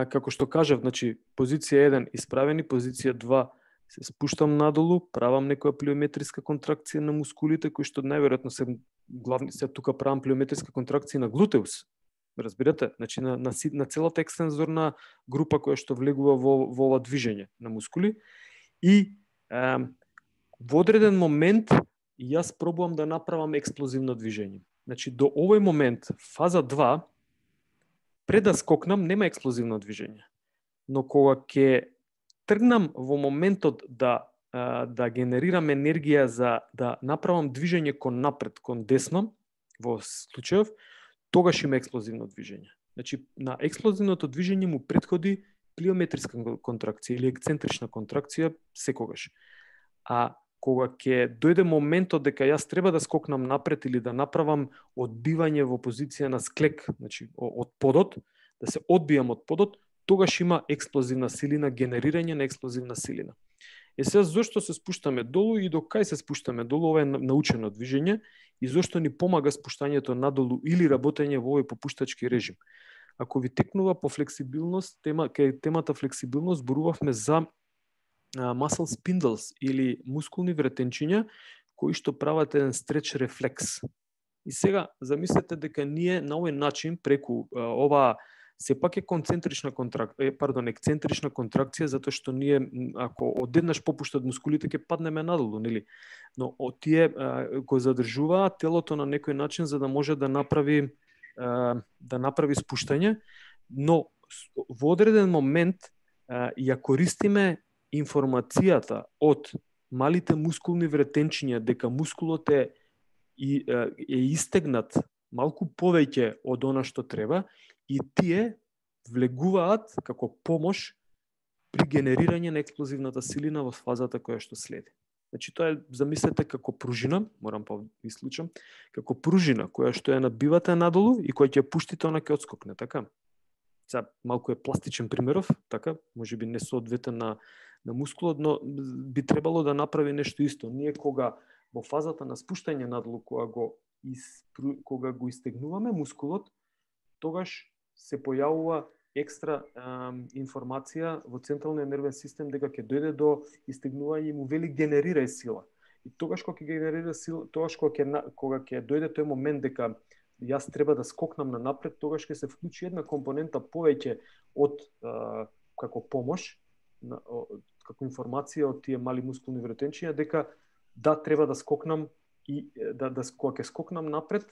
како што кажав, значи, позиција 1 исправени, позиција 2 се спуштам надолу, правам некоја плиометриска контракција на мускулите, кои што најверојатно се главни, се тука правам плиометриска контракција на глутеус. Разбирате? Значи на целата екстензорна група која што влегува во ова движење на мускули. И во одреден момент јас пробувам да направам експлозивно движење. Значи до овој момент, фаза 2, пред да скокнам нема експлозивно движење. Но кога ќе тргнам во моментот да генерирам енергија за да направам движење кон напред, кон десно, во случајов, тогаш има експлозивно движење. Значи, на експлозивното движење му претходи плиометриска контракција или ексцентрична контракција секогаш. А кога ќе дојде моментот дека јас треба да скокнам напред или да направам одбивање во позиција на склек, значи од подот, да се одбијам од подот, тогаш има експлозивна силина, генерирање на експлозивна силина. Сега, зошто се спуштаме долу и до кај се спуштаме долу, ова е научено движење, и зошто ни помага спуштањето надолу или работење во овој попуштачки режим. Ако ви текнува по флексибилност, кај темата флексибилност, зборувавме за muscle spindles или мускулни вретенчиња, кои што прават еден стреч рефлекс. И сега замислете дека ние на овој начин преку ова сепак е ексцентрична контракција, затоа што ние ако одеднаш попуштат мускулите ќе паднеме надолу, нели? Но тие го задржуваат телото на некој начин за да може да направи спуштање, но во одреден момент ја користиме информацијата од малите мускулни вретенчиња дека мускулот е истегнат малку повеќе од она што треба и тие влегуваат како помош при генерирање на експлозивната силина во фазата која што следи. Значи тоа е, замислете како пружина, морам па исклучам, како пружина која што ја набивате надолу и која ќе пуштите, она ќе отскокне, така? Сега малку е пластичен примеров, така, можеби не соодветен на мускулот, но би требало да направи нешто исто. Ние кога во фазата на спуштање надолу, кога го истегнуваме мускулот, тогаш се појавува екстра информација во централниот нервен систем дека ќе дојде до истегнување и му вели генерирај сила. И тогаш кога ќе генерира сила, тогаш кога ќе дојде тој момент дека јас треба да скокнам на напред, тогаш ќе се вклучи една компонента повеќе од како помош, како информација од тие мали мускулни вретенчиња дека да треба да скокнам и кога ќе скокнам напред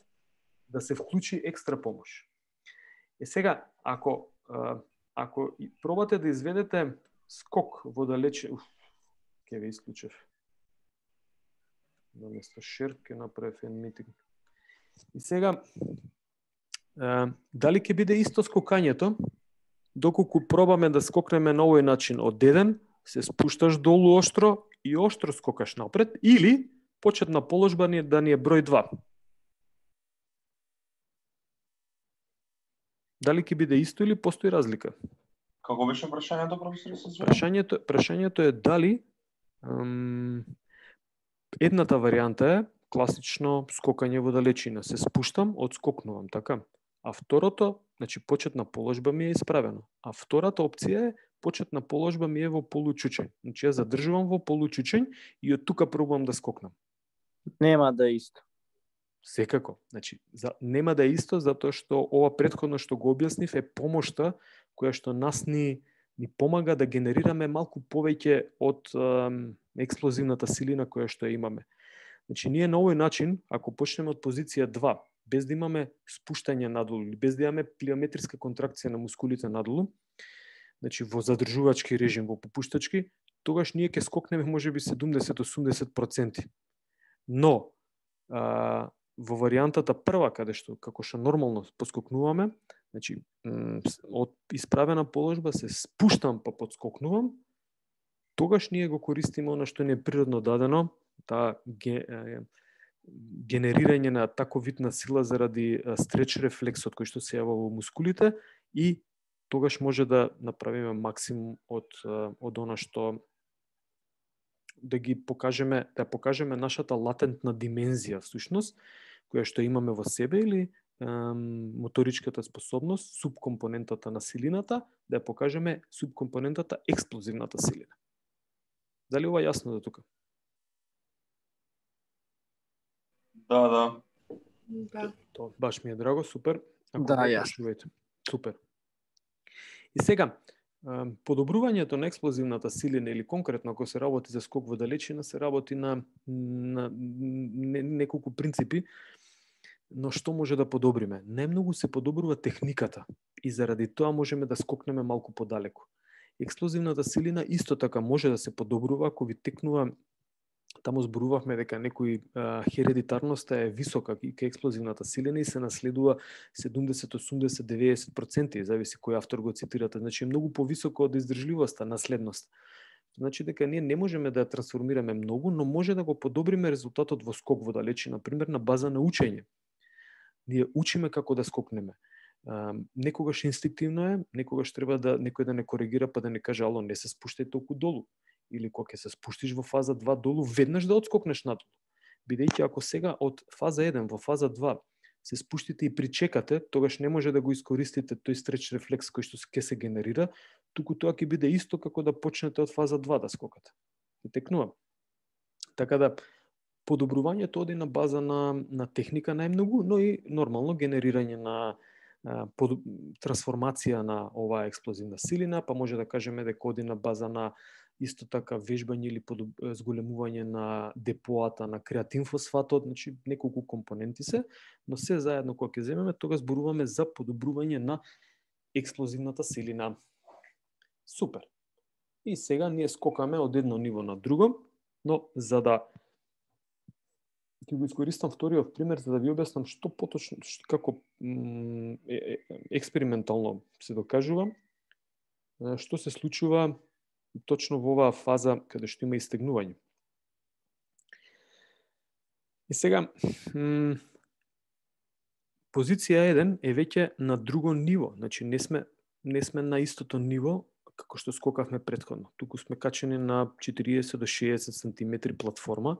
да се вклучи екстра помош. И сега ако пробате да изведете скок во далече, ќе ве исклучев. Наместо шер ќе направев еден митинг. И сега дали ќе биде исто скокањето доколку пробаме да скокнеме на овој начин од еден, се спушташ долу оштро и оштро скокаш напред, или почетна положба да ни е број 2. Дали ќе биде исто или постои разлика? Како беше прашањето, професор? Прашањето е дали едната варијанта е класично скокање во далечина, се спуштам, одскокнувам, така? А второто, значи почетна положба ми е исправено. А втората опција е почетна положба ми е во получучењ. Значи ја задржувам во получучењ и од тука пробувам да скокнам. Нема да е исто. Секако. Значи, нема да е исто, затоа што ова претходно што го објаснив е помошта која што нас ни помага да генерираме малку повеќе од експлозивната силина која што имаме. Значи, ние на овој начин, ако почнеме од позиција 2, без да имаме спуштање надолу, или без да имаме плиометриска контракција на мускулите надолу, значи во задржувачки режим, во попуштачки, тогаш ние ќе скокнеме можеби 70-80%. Но, во варијантата прва, каде што како што нормално поскокнуваме, значи од исправена положба се спуштам па подскокнувам, тогаш ние го користиме она што не е природно дадено, таа генерирање на таков вид на сила заради стреч рефлексот кој што се јава во мускулите и тогаш може да направиме максимум од она што да покажеме нашата латентна димензија всушност, која што имаме во себе или моторичката способност, субкомпонентата на силината, да ја покажеме субкомпонентата експлозивната силина. Дали ова јасно до тука? Да. Тоа баш ми е драго, супер. Да, јасно. Супер. И сега, подобрувањето на експлозивната силина или конкретно ако се работи за скок во далечина, се работи на неколку принципи, но што може да подобриме? Најмногу се подобрува техниката и заради тоа можеме да скокнеме малку подалеку. Експлозивната силина исто така може да се подобрува ако ви текнува. Таму зборувавме дека некои хередитарноста е висока кај експлозивната силина и се наследува 70, 80, 90%, зависи кој автор го цитирате. Значи е многу повисоко од издржливоста, наследност. Значи дека ние не можеме да ја трансформираме многу, но може да го подобриме резултатот во скок во далечина, например на база на учење. Ние учиме како да скокнеме. Некогаш инстинктивно е, некогаш треба да некој да не коригира па да не каже ало, не се спуштај толку долу. Или кога ќе се спуштиш во фаза 2 долу, веднаш да отскокнеш надолу. Бидејќи ако сега од фаза 1 во фаза 2 се спуштите и причекате, тогаш не може да го искористите тој стреч рефлекс кој што ќе се генерира, туку тоа ќе биде исто како да почнете од фаза 2 да скокате. Текнувам. Така да, подобрувањето оди на база на техника најмногу, но и нормално генерирање на трансформација на оваа експлозивна силина, па може да кажеме дека оди на база на исто така вежбање или зголемување на депоата на креатинфосфатот, значи неколку компоненти се, но се заедно кога ќе земеме, тога зборуваме за подобрување на експлозивната силина. Супер. И сега ние скокаме од едно ниво на друго, но за да ќе го искористам вториот пример за да ви објаснам што поточно, како експериментално се докажува, што се случува точно во оваа фаза каде што има истегнување. И сега, позиција 1 е веќе на друго ниво, значи не сме на истото ниво како што скокавме претходно. Туку сме качени на 40 до 60 см платформа,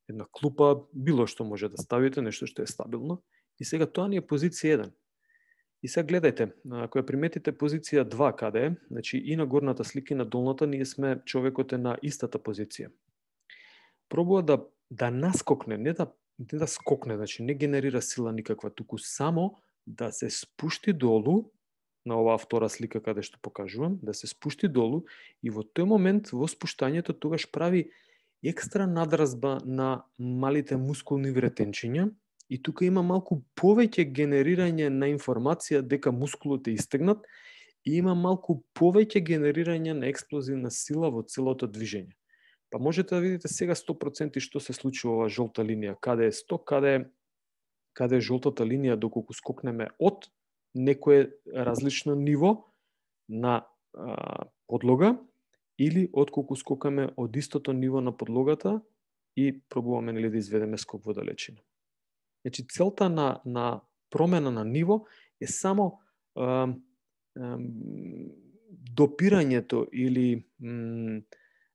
една клупа, било што може да ставите, нешто што е стабилно. И сега тоа ни е позиција 1. И сега гледајте, ако ја приметите позиција 2 каде е, значи и на горната слика и на долната, ние сме, човекот е на истата позиција. Пробува да наскокне, не да скокне, значи не генерира сила никаква, туку само да се спушти долу, на оваа втора слика каде што покажувам, да се спушти долу и во тој момент, во спуштањето, тогаш прави екстра надразба на малите мускулни вретенчиња и тука има малку повеќе генерирање на информација дека мускулот е истегнат и има малку повеќе генерирање на експлозивна сила во целото движење. Па можете да видите сега 100% што се случува оваа жолта линија, каде е 100, каде е жолтата линија доколку скокнеме од некое различно ниво на подлога или отколку скокаме од истото ниво на подлогата и пробуваме да изведеме скок во далечина. Значи целта на промена на ниво е само допирањето или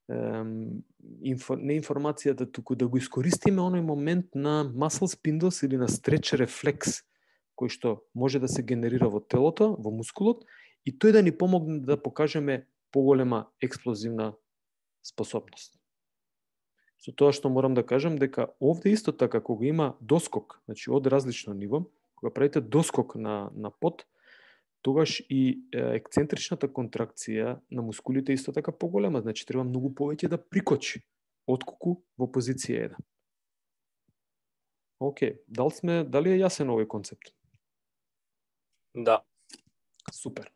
не информацијата, туку да го искористиме оној момент на muscle spindles или на стреч рефлекс кој што може да се генерира во телото, во мускулот, и тој да ни помогне да покажеме поголема експлозивна способност. Со тоа што морам да кажам дека овде исто така кога има доскок, значи од различно ниво, кога правите доскок на под, тогаш и ексцентричната контракција на мускулите исто така поголема, значи треба многу повеќе да прикочи отколку во позиција 1. Океј, дали е јасен овој концепт? Да. Супер.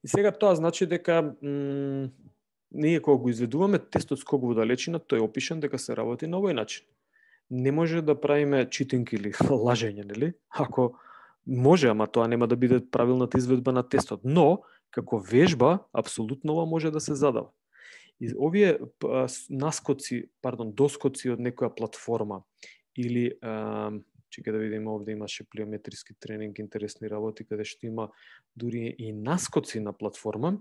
И сега тоа значи дека ние кога го изведуваме тестот скок во далечина, тој е опишан дека се работи на овој начин. Не може да правиме читинг или лажење, нели? Ако може, ама тоа нема да биде правилната изведба на тестот, но како вежба апсолутно ова може да се задава. И овие доскоци од некоја платформа или чека да видиме, овде имаше плиометриски тренинг, интересни работи, каде што има дури и наскоци на платформа.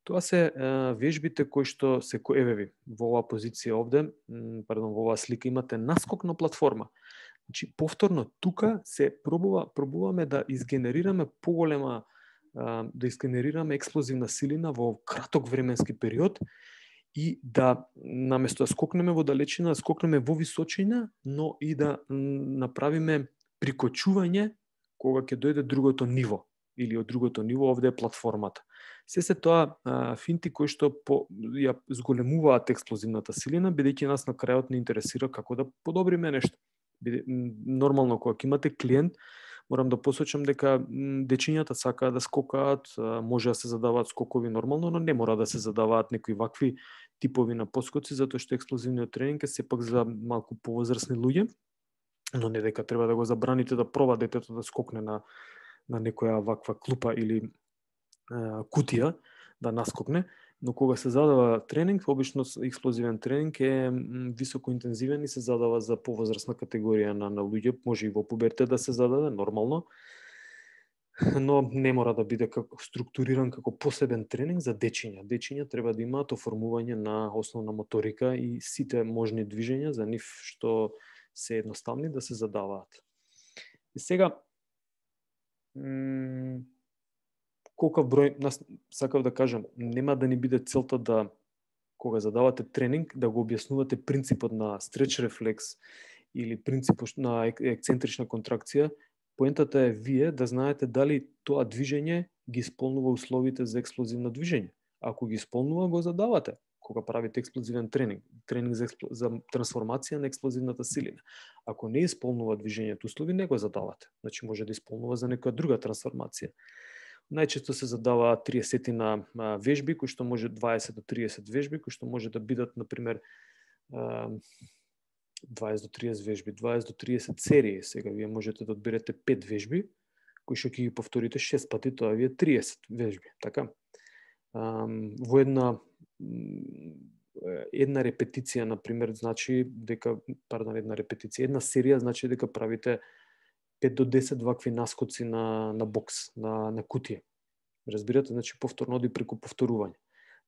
Тоа се вежбите кои што се евеви во оваа позиција овде, во оваа слика имате наскок на платформа. Значи, повторно, тука се пробуваме да изгенерираме поголема, да изгенерираме експлозивна силина во краток временски период и да, наместо да скокнеме во далечина, да скокнеме во височина, но и да направиме прикочување кога ќе дојде другото ниво, или од другото ниво овде е платформата. Се тоа финти кои што ја зголемуваат експлозивната силина, бидејќи нас на крајот не интересира како да подобриме нешто. Нормално, кога имате клиент, морам да посочам дека дечињата сакаат да скокаат, може да се задаваат скокови нормално, но не мора да се задаваат некои вакви типови на поскоци, затоа што експлозивниот тренинг е сепак за малку повозрасни луѓе, но не дека треба да го забраните да проба детето да скокне на некоја ваква клупа или кутија да наскокне, но кога се задава тренинг, обично експлозивен тренинг е високо интензивен и се задава за повозрасна категорија на луѓе, може и во пубертет да се зададе, нормално, но не мора да биде структуриран како посебен тренинг за дечиња. Дечиња треба да имаат оформување на основна моторика и сите можни движења за нив што се едноставни да се задаваат. И сега, колкав број, сакав да кажам, нема да ни биде целта да кога задавате тренинг, да го објаснувате принципот на стреч рефлекс или принципот на ексцентрична контракција. Поентата е вие да знаете дали тоа движење ги исполнува условите за експлозивно движење. Ако ги исполнува, го задавате кога правите експлозивен тренинг за трансформација на експлозивната силина. Ако не исполнува движењето услови, не го задавате. Значи може да исполнува за некоја друга трансформација. Најчесто се задава 30 на вежби, кои што може 20 до 30 вежби, кои што може да бидат, например, 20 до 30 вежби, 20 до 30 серии. Сега вие можете да одберете 5 вежби, кои што ќе ги повторите 6 пати, тоа ви е 30 вежби, така? Во една репетиција, например, значи дека, една серија значи дека правите 5 до 10 вакви наскоци на бокс, на кутија. Разбирате, значи повторно оди преку повторување.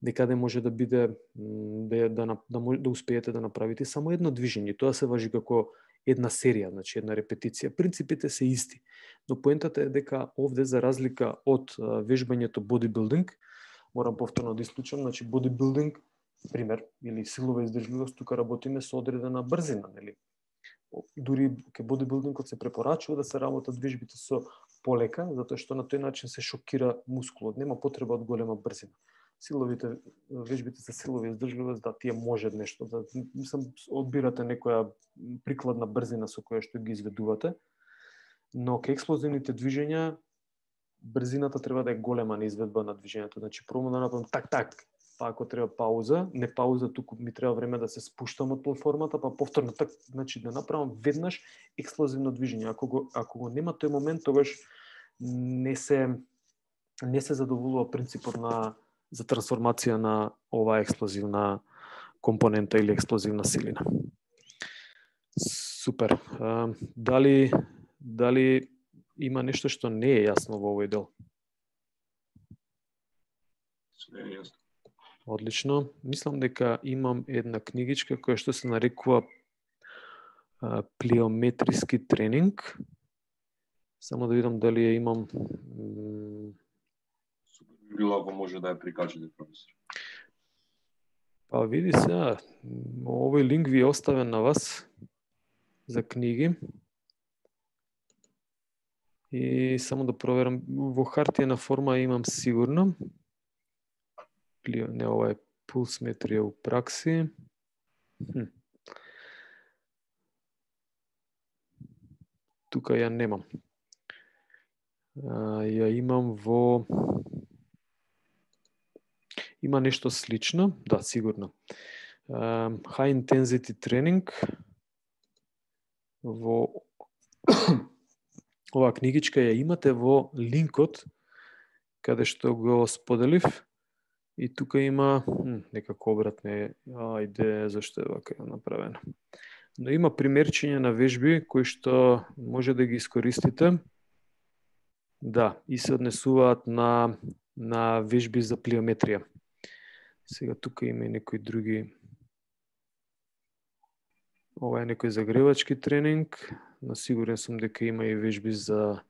Некаде може да биде да успеете да направите само едно движење. Тоа се важи како една серија, значи една репетиција. Принципите се исти, но поентата е дека овде, за разлика од вежбањето бодибилдинг, морам повторно да исклучам, значи бодибилдинг, пример, или силова издржливост, тука работиме со одредена брзина, нели? Дури ке бодибилдингот се препорачува да се работат вежбите со полека, затоа што на тој начин се шокира мускулот, нема потреба од голема брзина. Вежбите за силова издржливост, да, тие може нешто, да одбирате некоја прикладна брзина со која што ги изведувате, но ке експлозивните движења брзината треба да е голема на изведба на движењето. Значи, прво да направам так, па ако треба пауза, не пауза, туку ми треба време да се спуштам од платформата, па повторно так, значи да направам веднаш експлозивно движење. Ако го нема тој момент, тогаш не се задоволува принципот за трансформација на оваа експлозивна компонента или експлозивна силина. Супер. Дали има нешто што не е јасно во овој дел? Све е јасно. Одлично. Мислам дека имам една книгичка која што се нарекува плиометриски тренинг. Само да видам дали ја имам. Супер би било ако може да ја прикачите, професор. Па види се, овој линк ви е оставен на вас за книги. И само да проверам, во хартиена форма имам сигурно. Не, ова е пулсметрија у пракси. Тука ја немам. Ја имам во... Има нешто слично, да, сигурно. High intensity тренинг. Во оваа книгичка ја имате во линкот каде што го споделив. И тука има некако обратне, ајде, зашто е вака направено. Но има примерчиња на вежби кои што може да ги искористите. Да, и се однесуваат на вежби за плиометрија. Сега тука има и некои други. Ова е некој загревачки тренинг, но сигурен сум дека има и вежби за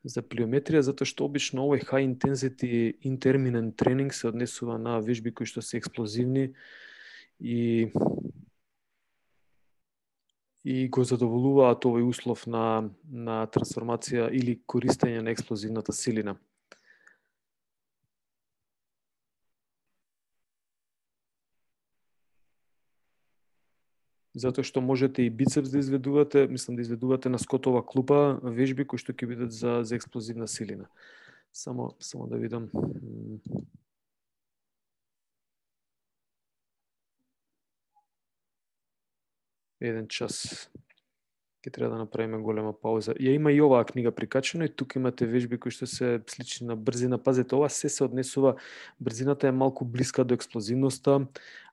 плиометрија, затоа што обично овој high intensity intermittent тренинг се однесува на вежби кои што се експлозивни и го задоволуваат овој услов на трансформација или користење на експлозивната силина. Затоа што можете и бицепс да изведувате, мислам да изведувате на скотова клупа вежби кои што ќе бидат за експлозивна силина. Само да видам. Еден час. Ќе треба да направиме голема пауза. Ја има и оваа книга прикачена и тука имате вежби кои што се слични на брзина. Пазете, ова се однесува, брзината е малку блиска до експлозивноста,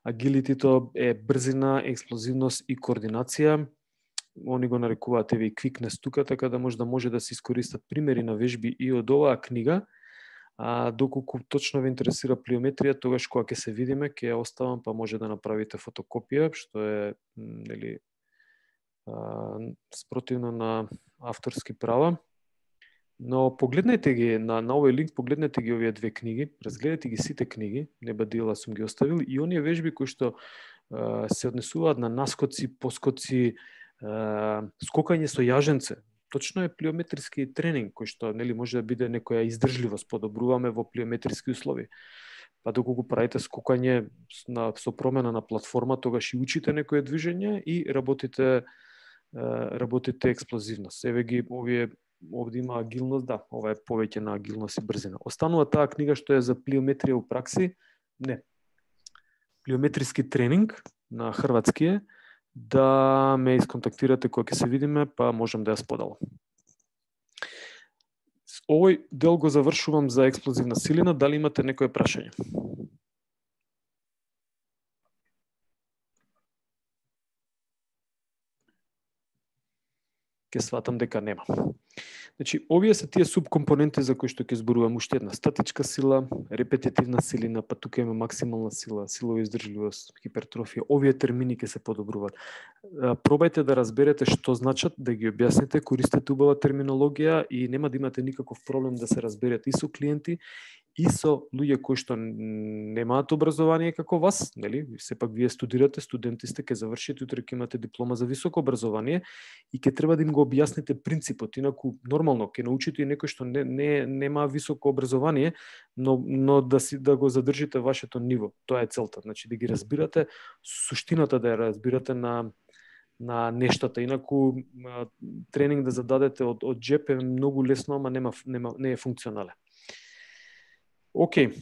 агилитито е брзина, експлозивност и координација. Они го нарекуваат еве и quickness тука, така да може да се искористат примери на вежби и од оваа книга. Доколку точно ве интересира плиометрија, тогаш кога ќе се видиме, ќе ја оставам, па може да направите фотокопија, што е спротивно на авторски права. Но погледнете ги на овој линк, погледнете ги овие две книги, разгледате ги сите книги, неба дела сум ги оставил, и оние вежби кои што се однесуваат на наскоци, поскоци, скокање со јаженце. Точно е плиометриски тренинг кој што нели може да биде некоја издржливост, подобруваме во плиометриски услови. Па доколку правите скокање со промена на платформа, тогаш и учите некое движење и работите експлозивност. Еве ги овде има агилност, да, ова е повеќе на агилност и брзина. Останува таа книга што е за плиометрија у пракси, не. Плиометриски тренинг на хрватски е, да ме исконтактирате кога ќе се видиме, па можам да ја споделам. Овој дел го завршувам за експлозивна силина, дали имате некое прашање? Ке сватам дека нема. Значи, овие се тие субкомпоненти за кои што ќе зборувам. Уште една статичка сила, репетитивна силина, па тука има максимална сила, силова издржливост, хипертрофија. Овие термини ќе се подобруваат. Пробајте да разберете што значат, да ги објасните, користете убава терминологија и нема да имате никаков проблем да се разберете и со клиенти, и со луѓе кои што немаат образование како вас, нели? Сепак вие студирате, студенти сте, ќе завршите, утре ќе имате диплома за високо образование и ќе треба да им го објасните принципот. Инаку нормално ќе научите и некој што нема високо образование, но да го задржите вашето ниво. Тоа е целта. Значи да ги разбирате, суштината да ја разбирате на нештата. Инаку тренинг да зададете од джеп е многу лесно, ама не е функционален. Океј.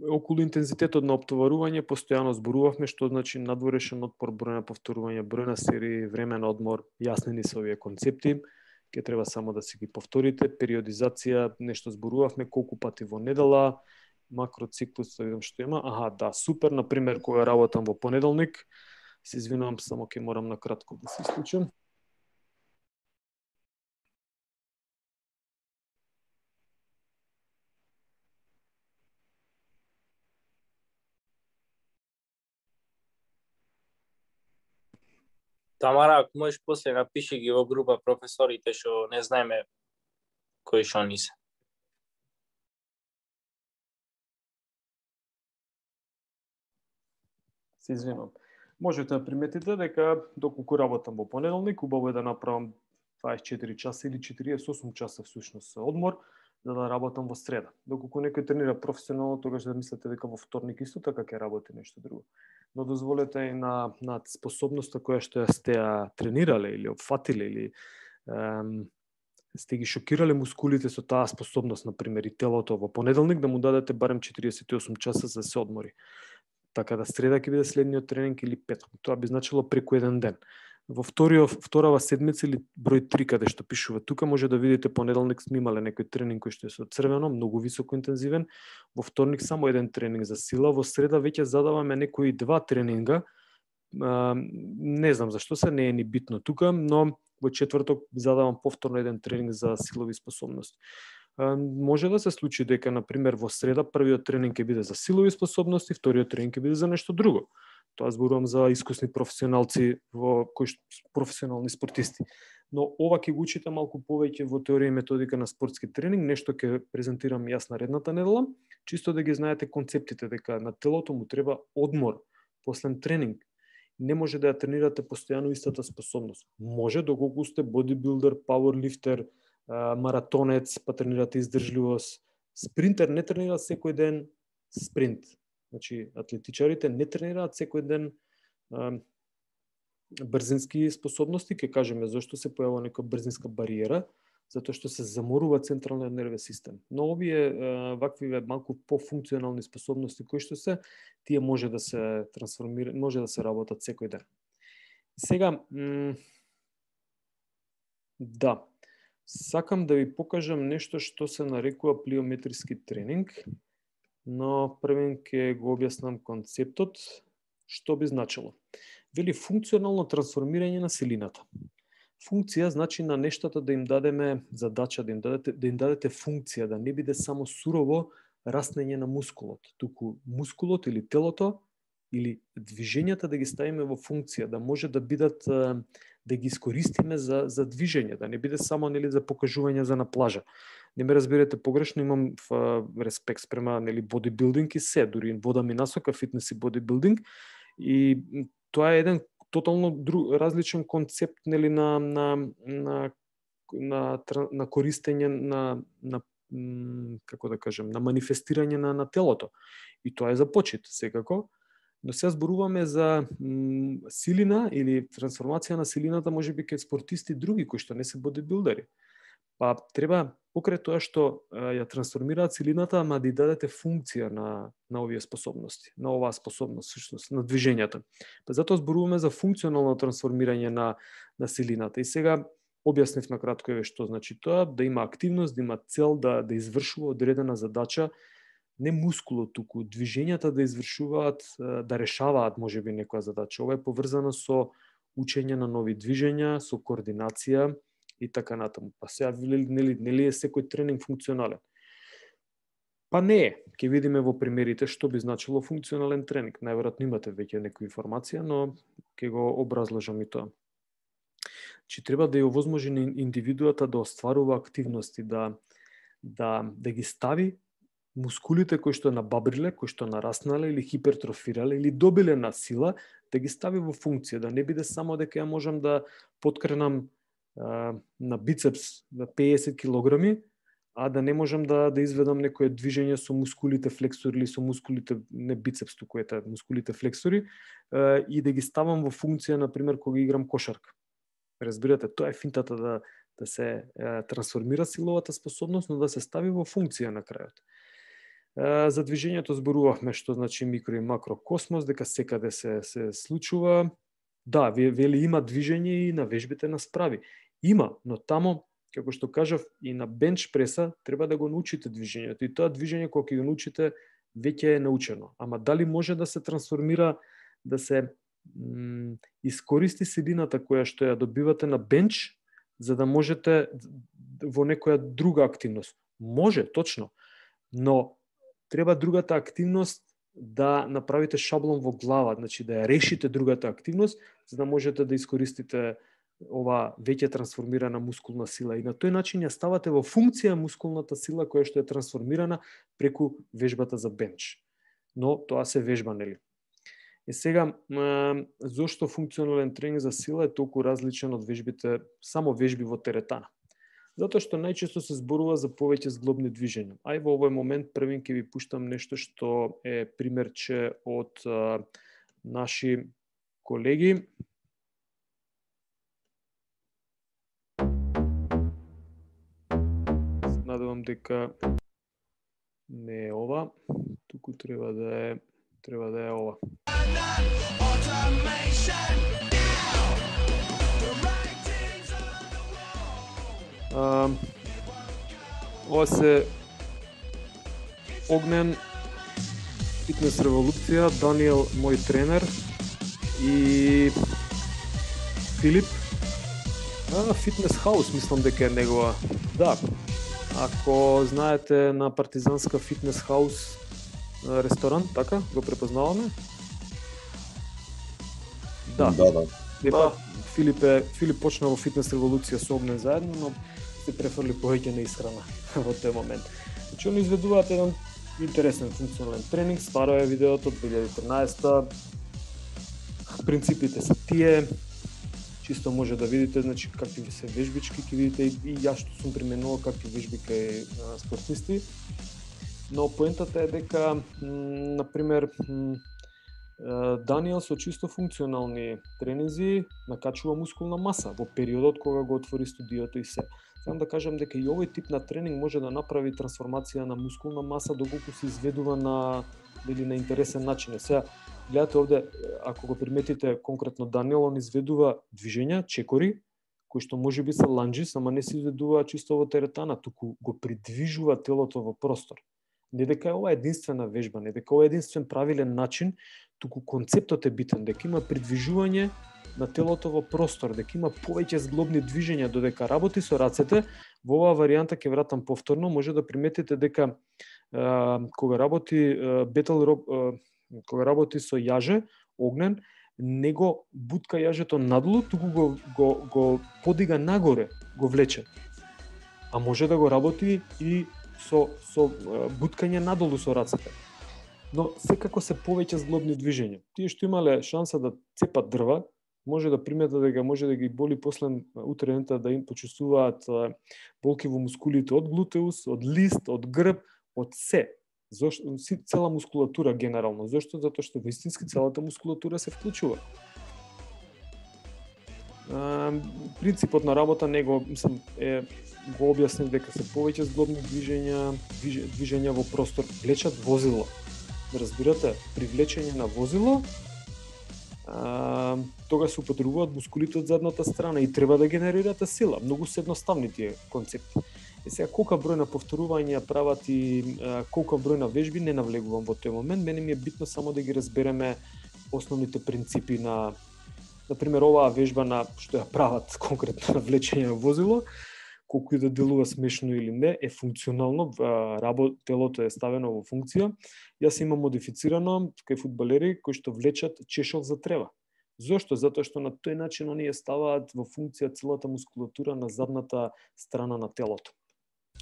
Околу интензитетот на оптоварување постојано зборувавме што значи надворешен отпор, број на повторување, број на серии, време на одмор, јаснени се овие концепти, ќе треба само да си ги повторите, периодизација, нешто зборувавме колку пати во недела, макроциклус, да видам што има. Аха, да, супер, на пример кога работам во понеделник, се извинувам, само ќе морам на кратко да се исклучам. Тамара, ако можеш после напиши ги во група професорите што не знаеме кои што ни се. Се извинувам. Можете да приметите дека доколку работам во понеделник, убаво е да направам 24 часа или 48 часа всушност одмор, за да работам во среда. Доколку некој тренира професионално, тогаш да мислите дека во вторник исто така ќе работи нешто друго. Но дозволете и на способноста која што сте ја тренирале или опфатиле или сте ги шокирале мускулите со таа способност, например, и телото во понеделник, да му дадете барем 48 часа за да се одмори. Така да среда ќе биде следниот тренинг или петок. Тоа би значило преку еден ден. Во вторава седмица или број 3 каде што пишува тука може да видите понеделник сме имале некој тренинг кој што е со црвено, многу високо интензивен. Во вторник само еден тренинг за сила, во среда веќе задаваме некои 2 тренинга. Не знам зашто се, не е ни битно тука, но во четврток задавам повторно еден тренинг за силови способности. Може да се случи дека, например, во среда првиот тренинг ќе биде за силови способности, вториот тренинг ќе биде за нешто друго. Тоа зборувам за искусни професионалци професионални спортисти. Но ова ќе го учите малку повеќе во теорија и методика на спортски тренинг, нешто ќе презентирам јас наредната недела, чисто да ги знаете концептите, дека на телото му треба одмор после тренинг. Не може да ја тренирате постојано истата способност. Може доколку сте бодибилдер, пауерлифтер, маратонец, па тренирате издржливост. Спринтер не тренира секој ден спринт. Значи, атлетичарите не тренираат секој ден брзински способности, ќе кажеме зашто се појавува некоја брзинска бариера, затоа што се заморува централниот нервен систем. Но овие вакви малку пофункционални способности кои што се, тие може да се трансформираат, може да се работат секој ден. Сега, да, сакам да ви покажам нешто што се нарекува плиометриски тренинг, но првен ќе го објаснам концептот, што би значило. Вели функционално трансформирање на силината. Функција значи на нештата да им дадеме задача, да им дадете функција, да не биде само сурово раснење на мускулот, туку мускулот или телото или движењата да ги ставиме во функција, да може да бидат да ги искористиме за движење, да не биде само нели за покажување за на плажа. Не ме разберете погрешно, имам респект спрема нели бодибилдинг и се, дури водам и насока фитнес и бодибилдинг, и тоа е еден тотално различен концепт нели на користење на како да кажем, на манифестирање на телото. И тоа е за почит, секако. Но сега зборуваме за силина или трансформација на силината, можеби кај спортисти други кои што не се бодибилдери. Па треба покрај тоа што ја трансформираат силината, ама да ја дадете функција на овие способности, на оваа способност, всушност, на движењата. Па затоа зборуваме за функционално трансформирање на силината. И сега објаснив на кратко што значи тоа, да има активност, да има цел да извршува одредена задача, не мускуло, туку движењата да извршуваат, да решаваат можеби некоја задача. Ова е поврзано со учење на нови движења, со координација и така натаму. Па сега нели е секој тренинг функционален? Па не е. Ќе видиме во примерите што би значило функционален тренинг. Најверојатно имате веќе некоја информација, но ќе го образложам и тоа. Че треба да ја овозможи на индивидуата да остварува активности, да ги стави мускулите кои што набабриле, кои што нараснале или хипертрофирале или добиле на сила, да ги стави во функција, да не биде само дека ја можам да подкренам на бицепс на 50 килограми, а да не можам да изведам некое движење со мускулите флексори или со мускулите не бицепс, туку ете мускулите флексори, и да ги ставам во функција, например, кога играм кошарка. Разбирате, тоа е финтата да се трансформира силовата способност, но да се стави во функција на крајот. За движењето зборувавме што значи микро и макро космос, дека секаде се случува. Да, вели има движење и на вежбите на справи. Има, но тамо, како што кажав, и на бенч преса треба да го научите движењето. И тоа движење кога ќе го научите веќе е научено. Ама дали може да се трансформира, да се искористи силината која што ја добивате на бенч, за да можете во некоја друга активност? Може, точно. Но треба другата активност да направите шаблон во глава, значи да ја решите другата активност, за да можете да искористите ова веќе трансформирана мускулна сила. И на тој начин ја ставате во функција мускулната сила која што е трансформирана преку вежбата за бенч. Но тоа се вежба, нели? И сега, зошто функционален тренинг за сила е толку различен од вежбите, само вежби во теретана? Затоа што најчесто се зборува за повеќе зглобни движења. Ај во овој момент првин ќе ви пуштам нешто што е примерче од наши колеги. Надевам дека не е ова, туку треба да е ова. Ова се Огнен, Фитнес револуција, Даниел, мој тренер, и Филип. Фитнес хаус, мислам дека е негова. Да, ако знаете на Партизанска фитнес хаус ресторан, така, го препознаваме? Да. Филип почна во Фитнес револуција со Огнен заедно, но се префрли повеќе на исхрана во тој момент. Значи, они изведуваат еден интересен функционален тренинг, старо е видеото од 2013. Принципите се тие, чисто може да видите, значи, какви се вежбички, ќе видите и јас што сум применувал какви вежби кај спортисти. Но поентата е дека, например, Даниел со чисто функционални тренинзи накачува мускулна маса во периодот кога го отвори студиото и се. Сакам да кажам дека и овој тип на тренинг може да направи трансформација на мускулна маса доколку се изведува на интересен начин. Сега, гледате овде, ако го приметите конкретно Даниел, он изведува движења, чекори, кои што може би се ланџис, ама не се изведува чисто во теретана, туку го придвижува телото во простор. Не дека е ова единствена вежба, не дека ова е единствен правилен начин, туку концептот е битен, дека има придвижување на телото во простор, дека има повеќе зглобни движења, додека работи со рацете. Во оваа варијанта ќе вратам повторно, може да приметите дека кога работи кога работи со јаже, Огнен, не го бутка јажето надолу, туку го подига нагоре, го влече. А може да го работи и со буткање надолу со рацете. Но секако се повеќе зглобни движења. Тие што имале шанса да цепат дрва, може да приметат дека може да ги боли после утрената, да им почувствуваат болки во мускулите од глутеус, од лист, од грб, од се. Зошто цела мускулатура генерално? Зошто? Затоа што вистински целата мускулатура се вклучува. Принципот на работа него го објаснив дека се повеќе зглобни движења во простор, влечат возило. Разбирате, при влечење на возило тога се употребуваат мускулите од задната страна и треба да генерирате сила. Многу се едноставни тие концепти. Сега колка број на повторувања прават и колка број на вежби не навлегувам во тој момент. Мене ми е битно само да ги разбереме основните принципи на например оваа вежба на што ја прават конкретно на влечење на возило, колку и да делува смешно или не, е функционално, телото е ставено во функција. Јас имам модифицирано кај фудбалери кои што влечат чешол за трева. Зошто? Затоа што на тој начин оние ставаат во функција целата мускулатура на задната страна на телото.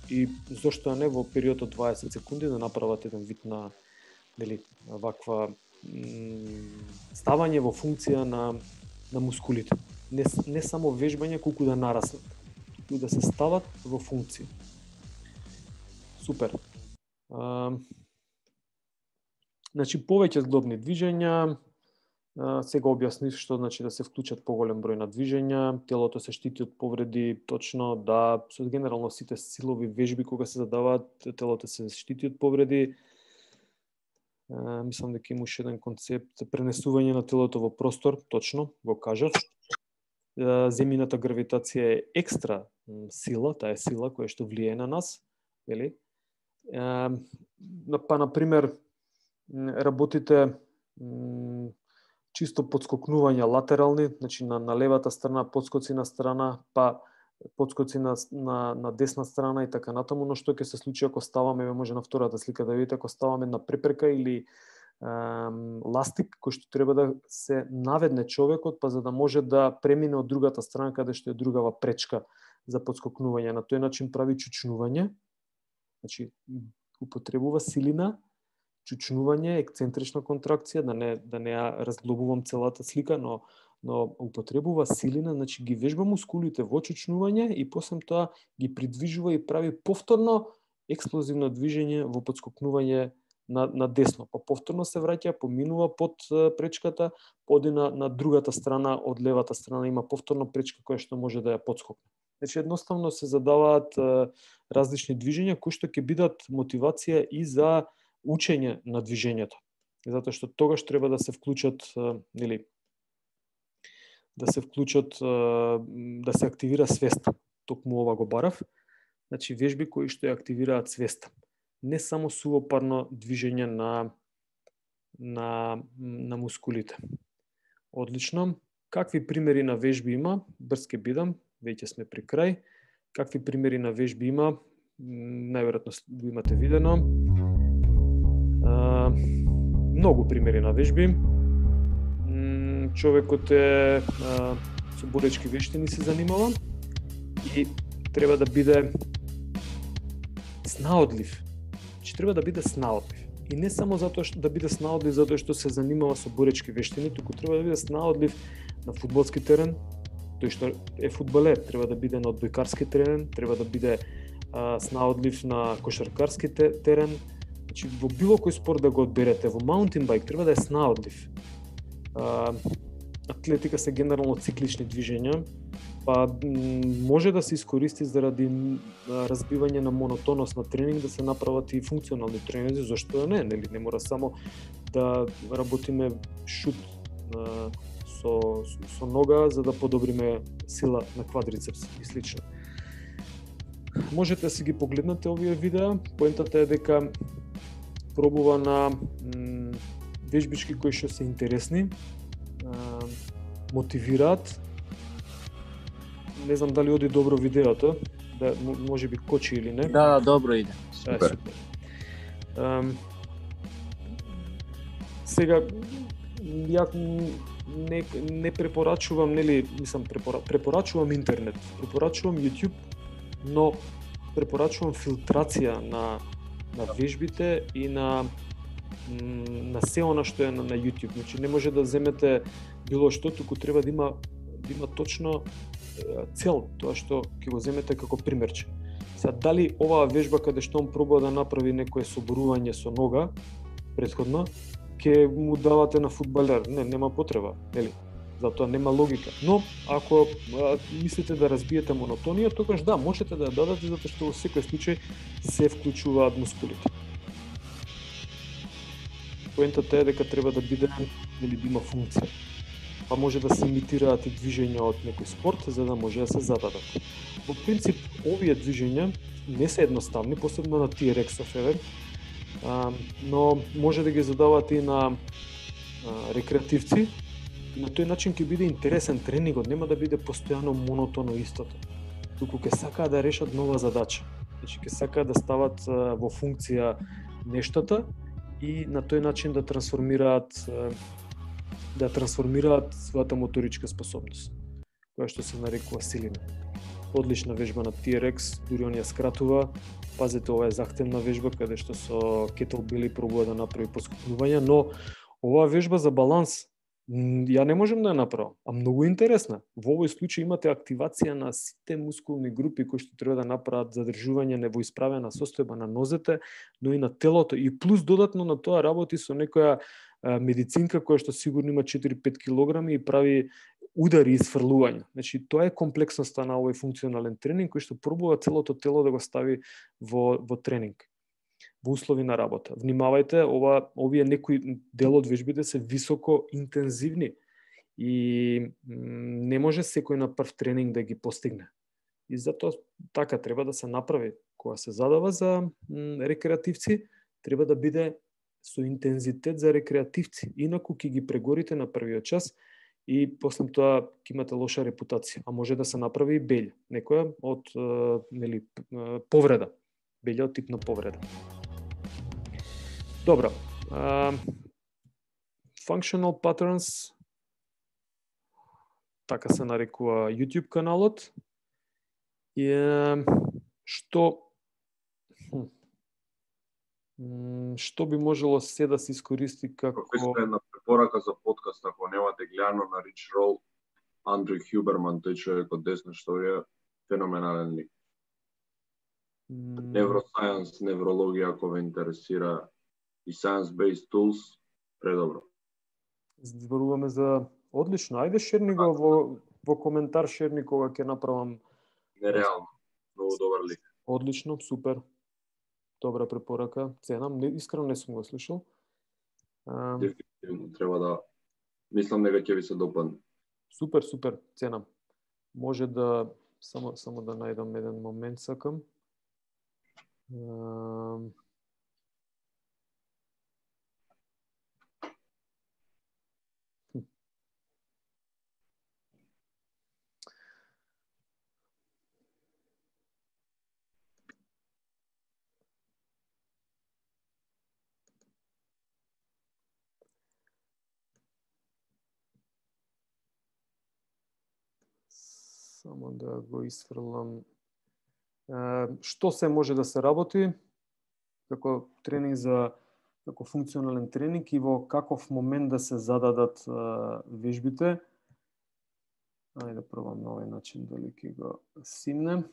И зошто не во период од 20 секунди да направат еден вид на ваква ставање во функција на мускулите. Не само вежбање, колку да нараснат, и да се стават во функција. Супер. Значи повеќе зглобни движења. Сега објаснив што значи да се вклучат поголем број на движења, телото се штити од повреди, точно да, со генерално сите силови вежби кога се задаваат, телото се штити од повреди. Мислам дека има уште еден концепт, пренесување на телото во простор, точно, го кажав. Земјината гравитација е екстра сила, таа е сила која што влијае на нас, вели? Па например работите чисто подскокнувања латерални, значи на левата страна, подскоци на страна, па подскоци на десна страна и така натаму, но што ќе се случи ако ставаме, може на втората слика да видите, ако ставаме на препрека или ластик, кој што треба да се наведне човекот, па за да може да премине од другата страна каде што е другава пречка за подскокнување. На тој начин прави чучнување, значи употребува силина, чучнување, ексцентрична контракција, да не ја разглобувам целата слика, но употребува силина, значи ги вежба мускулите во чучнување и после тоа ги придвижува и прави повторно експлозивно движење во подскокнување на десно. Па повторно се враќа, поминува под пречката, поди на другата страна, од левата страна има повторно пречка која што може да ја подскокне. Значи едноставно се задаваат различни движења кои што ќе бидат мотивација и за учење на движењето. Затоа што тогаш треба да се вклучат, да се активира свеста. Токму ова го барав. Значи вежби кои што ја активираат свеста. Не само сувопарно движење на мускулите. Одлично. Какви примери на вежби има? Брз ке бидам, веќе сме при крај. Какви примери на вежби има? Најверојатно го имате видено. Многу примери на вежби. Човекот е со боречки вештини се занимава и треба да биде снаодлив. Треба да биде снаодлив. И не само затоа што да биде снаодлив затоа што се занимава со боречки вештини, туку треба да биде снаодлив на фудбалски терен, тој што е фудбалер, треба да биде на одбојкарски терен, треба да биде снаодлив на кошаркарски терен. Значи во било кој спорт да го одберете, во маунтин байк треба да е снаодлив. Атлетика се генерално циклични движења, па може да се искористи заради разбивање на монотонност на тренинг, да се направат и функционални тренинзи, зашто не, нели не мора само да работиме шут со нога за да подобриме сила на квадрицепс и слично. Можете да си ги погледнете овие видеа, поентата е дека пробува на вежбички кои што се интересни, мотивираат. Не знам дали оди добро видеото, да може би кочи или не. Да, добро иде. Супер. Сега ја не препорачувам, нели, мислам препорачувам интернет, препорачувам YouTube, но препорачувам филтрација на вежбите и на се она што е на YouTube. Значи не може да земете било што, туку треба да има точно цел, тоа што ќе го земете како примерче. Сега, дали оваа вежба каде што он пробува да направи некое соборување со нога претходно, ќе му давате на фудбалер? Не, нема потреба, нели? Затоа нема логика. Но ако мислите да разбиете монотонија, тогаш да, можете да ја дадете, затоа што во секој случај се вклучуваат мускулите. Поентата е дека треба да биде, или да има функција. Па може да се имитираат и движења од некој спорт, за да може да се зададат. Во принцип, овие движења не се едноставни, посебно на TRX-ов евент, но може да ги задавате и на рекреативци. И на тој начин ќе биде интересен тренингот, нема да биде постојано монотоно истото. Туку ќе сакаат да решат нова задача. Значи ќе сакаат да стават во функција нештата и на тој начин да трансформираат својата моторичка способност, која што се нарекува силина. Одлична вежба на TRX, дури он ја скратува. Пазете, ова е захтевна вежба каде што со кетелбели пробува да направи поскупнување, но оваа вежба за баланс ја не можам да ја направам, а многу интересна. Во овој случај имате активација на сите мускулни групи кои што треба да направат задржување во исправена состојба на нозете, но и на телото, и плюс додатно на тоа работи со некоја медицинка која што сигурно има 4-5 килограми и прави удари и сфрлување. Значи тоа е комплексноста на овој функционален тренинг кој што пробува целото тело да го стави во тренинг, во услови на работа. Внимавајте, овие некои дел од вежбите се високо интензивни и не може секој на прв тренинг да ги постигне. И затоа така треба да се направи. Кога се задава за рекреативци, треба да биде со интензитет за рекреативци, инаку ќе ги прегорите на првиот час и после тоа ќе имате лоша репутација, а може да се направи и белја, некоја од повреда, белја од тип на повреда. Добро. Functional Patterns, така се нарекува YouTube каналот. И што би можело се да се искористи како... Кој е една препорака за подкаст, ако немате гледано на Рич Рол, Андрю Хюберман, тој човек од десна што е феноменален лик. Neuroscience, неврологија, ако ве интересира, и science-based tools, предобро. Зборуваме за одлично. Ајде шерни го во коментар, шерни кога ќе направам. Нереално. Многу добар лик. Одлично, супер. Добра препорака. Ценам, искрено не сум го слушал. Дефинитивно треба да мислам дека ќе ви се допадне. Супер, ценам. Може да само да најдам еден момент сакам. Само да го исфрлам. Што се може да се работи како тренинг како функционален тренинг и во каков момент да се зададат вежбите. Ајде да пробам на овој начин дали ќе го симнем.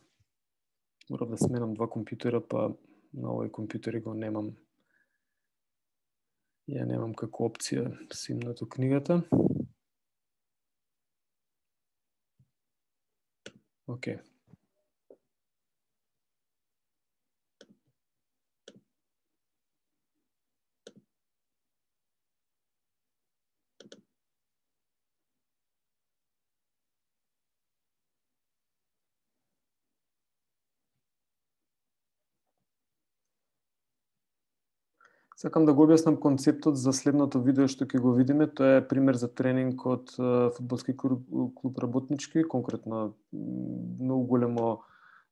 Морам да сменам два компјутера, па на овој компјутер го немам. Ја немам како опција симнато книгата. Океј. Сакам да го објаснам концептот за следното видео што ќе го видиме. Тоа е пример за тренинг од фудбалски клуб Работнички, конкретно многу големо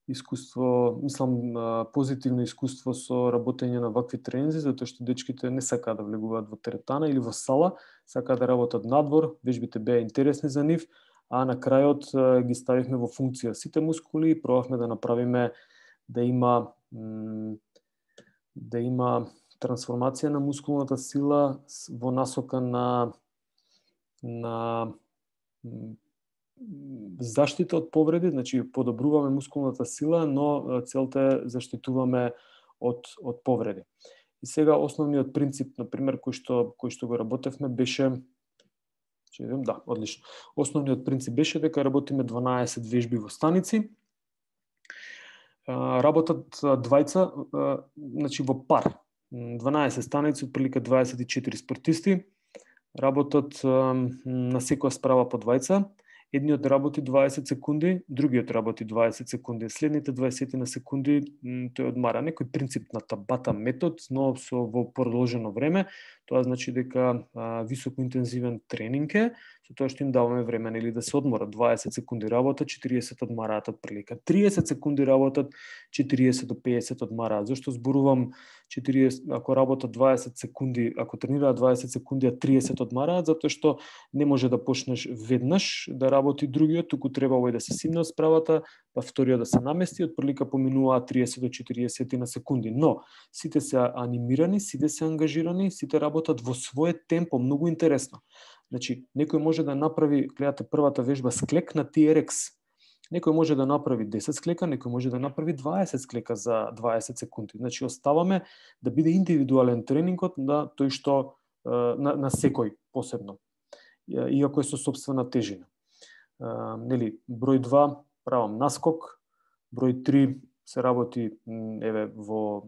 искуство, мислам, позитивно искуство со работење на вакви тренинзи, затоа што дечките не сакаат да влегуваат во теретана или во сала, сакаат да работат надвор, вежбите беа интересни за нив, а на крајот ги ставивме во функција сите мускули и пробавме да направиме да има трансформација на мускулната сила во насока на заштита од повреди, значи подобруваме мускулната сила, но целта е заштитуваме од повреди. И сега основниот принцип, на пример, кој што го работевме беше одлично. Основниот принцип беше дека работиме 12 вежби во станици. Работат двајца, значи во пар. 12 станици, отприлика 24 спортисти. Работат на секоја справа по двајца. Едниот работи 20 секунди, другиот работи 20 секунди. Следните 20 на секунди тој одмара. Некој принцип на табата метод, но во продолжено време. Тоа значи дека високоинтензивен тренинг е, со тоа што им даваме време или да се одморат. 20 секунди работат, 40 одмараат отприлика. 30 секунди работат, 40 до 50 одмараат. Зошто зборувам 40, ако работат 20 секунди, ако тренираат 20 секунди, а 30 одмараат, затоа што не може да почнеш веднаш да работи другиот, туку треба овој да се симне од справата, па вториот да се намести, отприлика поминуваат 30 до 40 на секунди. Но сите се анимирани, сите се ангажирани, сите работат во свое темпо, многу интересно. Значи, некој може да направи, гледате првата вежба склек на TRX. Некој може да направи 10 склека, некој може да направи 20 склека за 20 секунди. Значи, оставаме да биде индивидуален тренингот на тој што на секој посебно, иако е со сопствена тежина. Број 2 правам наскок, број 3 се работи во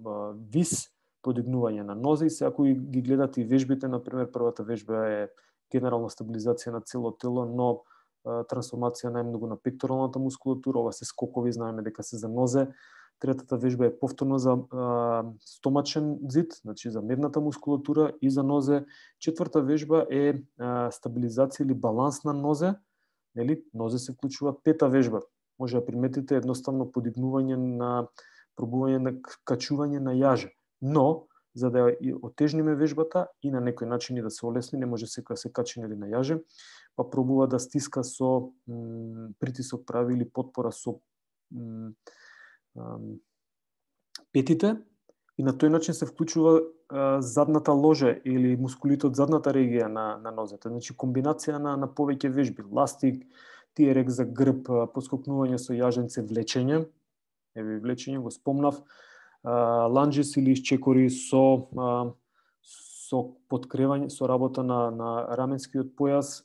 вис, подигнување на нозе, и се ако ги гледате и вежбите, например, првата вежба е генерална стабилизација на цело тело, но трансформација најмногу на пекторалната мускулатура, ова се скокови, знаеме дека се за нозе. Третата вежба е повторно за стомачен зид, значи за медната мускулатура и за нозе. Четврта вежба е стабилизација или баланс на нозе, нозе се вклучува. Пета вежба, може да приметите едноставно подигнување на пробување на качување на јаже. Но, за да отежниме вежбата и на некој начин и да се олесни, не може секој да се качи или на јаже, па пробува да стиска со притисок прави или потпора со петите, и на тој начин се вклучува задната ложа или мускулите од задната регија на нозете. Значи комбинација на повеќе вежби, ластик, TRX за грб, поскокнување со јаженце, влечење, влечење го спомнав, ланџис или чекори со подкревање, со работа на раменскиот појас.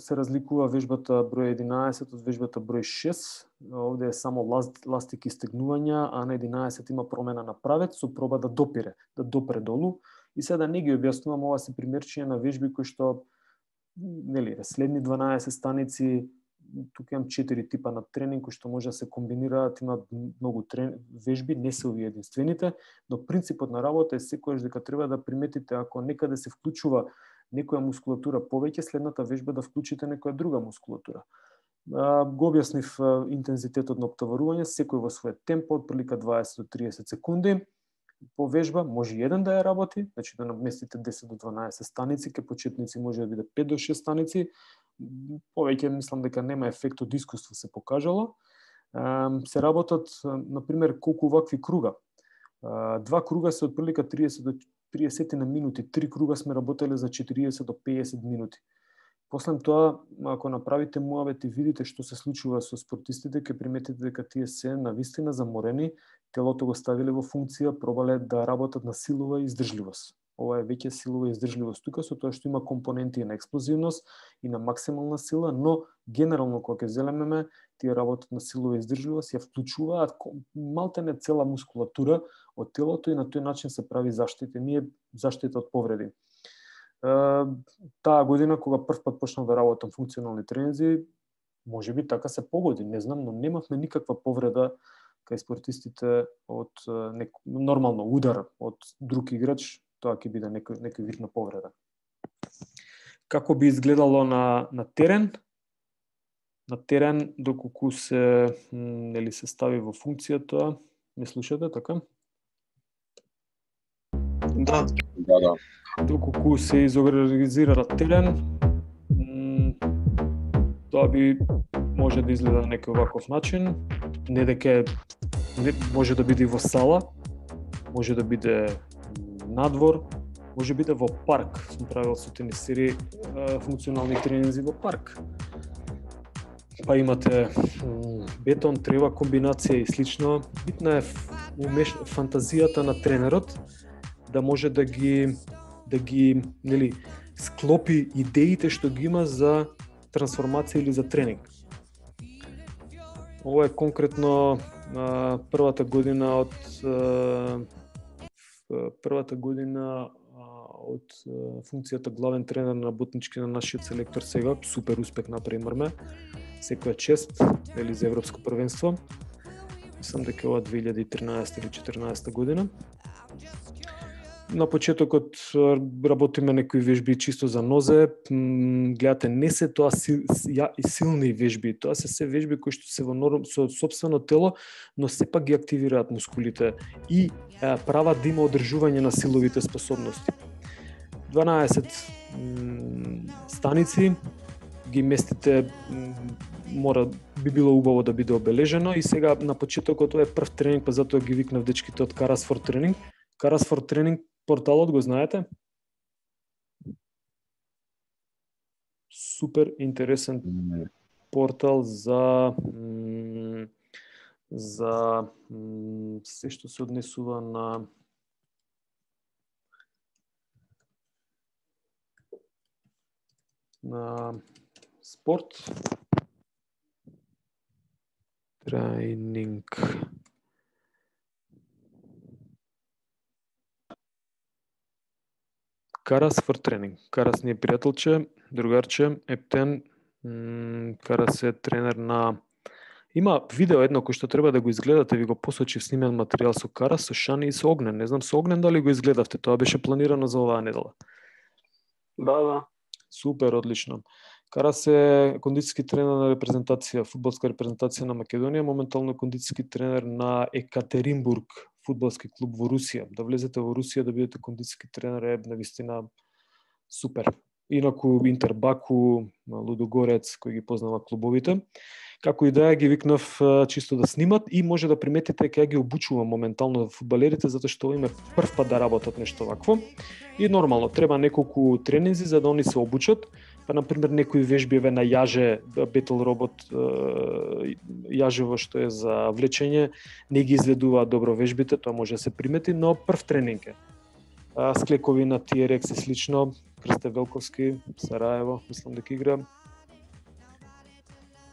Се разликува вежбата број 11 од вежбата број 6. Овде е само ластик и стегнувања, а на 11 има промена на правец со проба да допре долу. И сега да не ги објаснувам, ова се примерчиња на вежби кои што следни 12 станици. Тука имам 4 типа на тренинг кои што може да се комбинираат, има многу вежби, не се овие единствените, но принципот на работа е секогаш дека треба да приметите ако некаде се вклучува некоја мускулатура повеќе, следната вежба да вклучите некоја друга мускулатура. Го објаснив интензитетот на оптоварување, секој во своје темпо, отприлика 20 до 30 секунди по вежба, може еден да ја работи, значи да наместите 10 до 12 станици, ке почетници може да биде 5 до 6 станици, повеќе мислам дека нема ефект од искуство се покажало. Се работат, например, колку вакви круга. 2 круга се отприлика 30 до 30 на минути, 3 круга сме работеле за 40 до 50 минути. После тоа, ако направите муавет и видите што се случува со спортистите, ќе приметите дека тие се навистина заморени, телото го ставиле во функција, пробале да работат на силова издржливост. Ова е веќе силова издржливост тука, со тоа што има компоненти на експлозивност и на максимална сила, но генерално кога ќе зелемеме, тие работат на силова издржливост, ја вклучуваат малтене цела мускулатура од телото и на тој начин се прави заштита. Заштита од повреди. Таа година, кога прв пат почнав да работам функционални тренинзи, може би така се погоди, не знам, но немавме никаква повреда кај спортистите од нормално удар од друг играч, тоа ќе биде некој вид на повреда. Како би изгледало на терен? на терен доколку се нели се стави во функцијата. Ме слушате така? Да. Доколку се изорганизира на терен, тоа би може да изгледа на некој ваков начин, не дека може да биде во сала, може да биде надвор, може да биде во парк. Сум правил со тенисери функционални тренинзи во парк. Па имате бетон, трева комбинација и слично. Битна е фантазијата на тренерот да може да ги нели склопи идеите што ги има за трансформација или за тренинг. Ова е конкретно првата година од функцијата главен тренер на работнички на нашиот селектор сега. Супер успех направивме. Секоја чест или за европско првенство. Мислам дека ова 2013 или 2014 година. На почетокот работиме некои вежби чисто за нозе. Гледате, не се тоа силни вежби, тоа се вежби кои што се во со сопствено тело, но сепак ги активираат мускулите и прават да има одржување на силовите способности. 12 станици ги местите, би било убаво да биде обележено и сега на почетокот тоа е прв тренинг, па затоа ги викнав дечките од Карас for Training. Карас for Training порталот го знаете? Супер интересен портал за се што се однесува на спорт, тренинг. Карас for Training. Карас ни е пријателче, другарче, ептен. Карас е тренер на... Има видео едно кој што треба да го изгледате, ви го посочив снимен материјал со Карас, со Шани и со Огнен. Не знам со Огнен дали го изгледавте, тоа беше планирано за оваа недела. Да. Супер, одлично. Карас е кондицијски тренер на репрезентација, фудбалска репрезентација на Македонија, моментално кондицијски тренер на Екатеринбург, фудбалски клуб во Русија. Да влезете во Русија да бидете кондицијски тренер е навистина супер. Инаку Интербаку, Лудогорец, кој ги познава клубовите. Како и да е, ги викнав чисто да снимат и може да приметите дека ги обучувам моментално фудбалерите, затоа што име прв пат да работат нешто вакво. И нормално, треба неколку тренинзи за да они се обучат. Па, например, некои вежби на јаже, бетл робот, јажево што е за влечење, не ги изведуваат добро вежбите, тоа може да се примети, но прв тренинг е. Склековина, TRX и слично, Крсте Велковски, Сараево, мислам дека игра.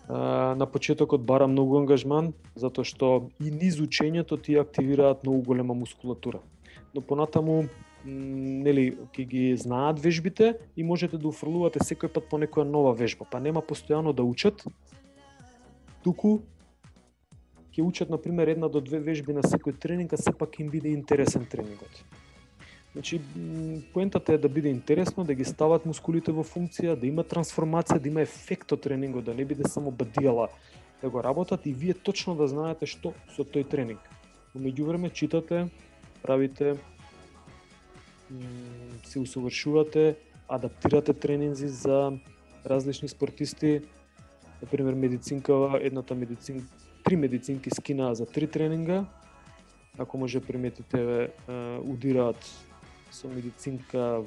На почетокот бара многу ангажман, затоа што и низ учењето ти активираат многу голема мускулатура. Но понатаму, нели, ќе ги знаат вежбите и можете да уфрлувате секој пат по некоја нова вежба, па нема постојано да учат, туку ќе учат, например, 1 до 2 вежби на секој тренинг, а сепак им биде интересен тренингот. Значи, поентата е да биде интересно, да ги стават мускулите во функција, да има трансформација, да има ефект од тренингот, да не биде само бадијала да го работат и вие точно да знаете што со тој тренинг. Но меѓувреме читате, правите, се усовршувате, адаптирате тренинзи за различни спортисти. Например, медицинка, три медицинки скинаа за 3 тренинга. Ако може приметите, удираат со медицинка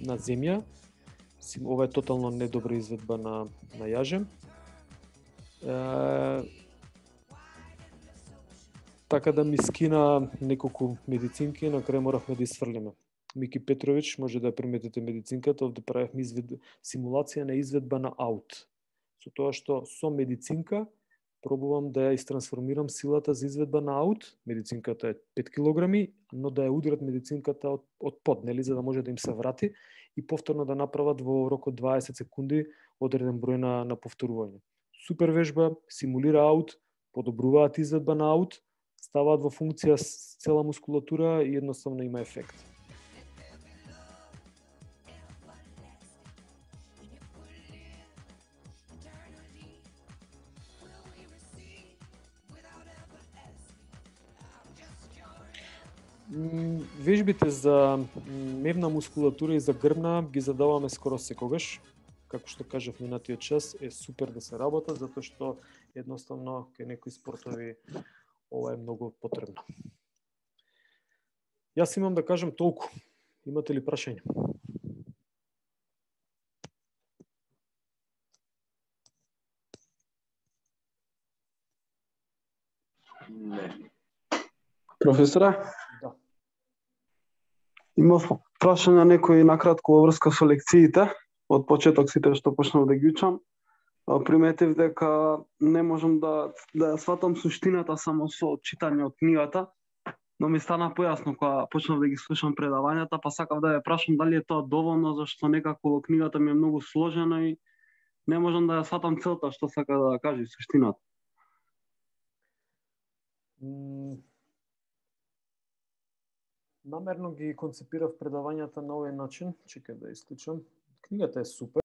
на земја. Ова е тотално недобра изведба на јаже. Така да ми скина неколку медицинки, на крај моравме да изфрлиме. Мики Петрович, може да приметите медицинката, овде правевме симулација на изведба на аут. Со тоа што со медицинка пробувам да ја истрансформирам силата за изведба на аут. Медицинката е 5 килограми, но да ја удрат медицинката од под, нели, за да може да им се врати и повторно да направат во рок од 20 секунди одреден број на повторување. Супер вежба, симулира аут, подобруваат изведба на аут, ставаат во функција цела мускулатура и едноставно има ефект. Вежбите за мевна мускулатура и за грбна ги задаваме скоро секогаш. Како што кажав минатиот час, е супер да се работат, затоа што едноставно кај некои спортови ова е многу потребно. Јас имам да кажам толку. Имате ли прашања? Не. Професоре? Да. Имав прашање некои накратко во врска со лекциите. Од почеток сите што почнав да ги учам. Приметив дека не можам да ја сватам суштината само со читање од книгата, но ми стана појасно кога почнав да ги слушам предавањата, па сакав да ја прашам дали е тоа доволно, зашто некако во книгата ми е многу сложено и не можам да ја сватам целта што сака да каже суштината. Намерно ги концепирав предавањата на овој начин, чекај да исклучам. Книгата е супер.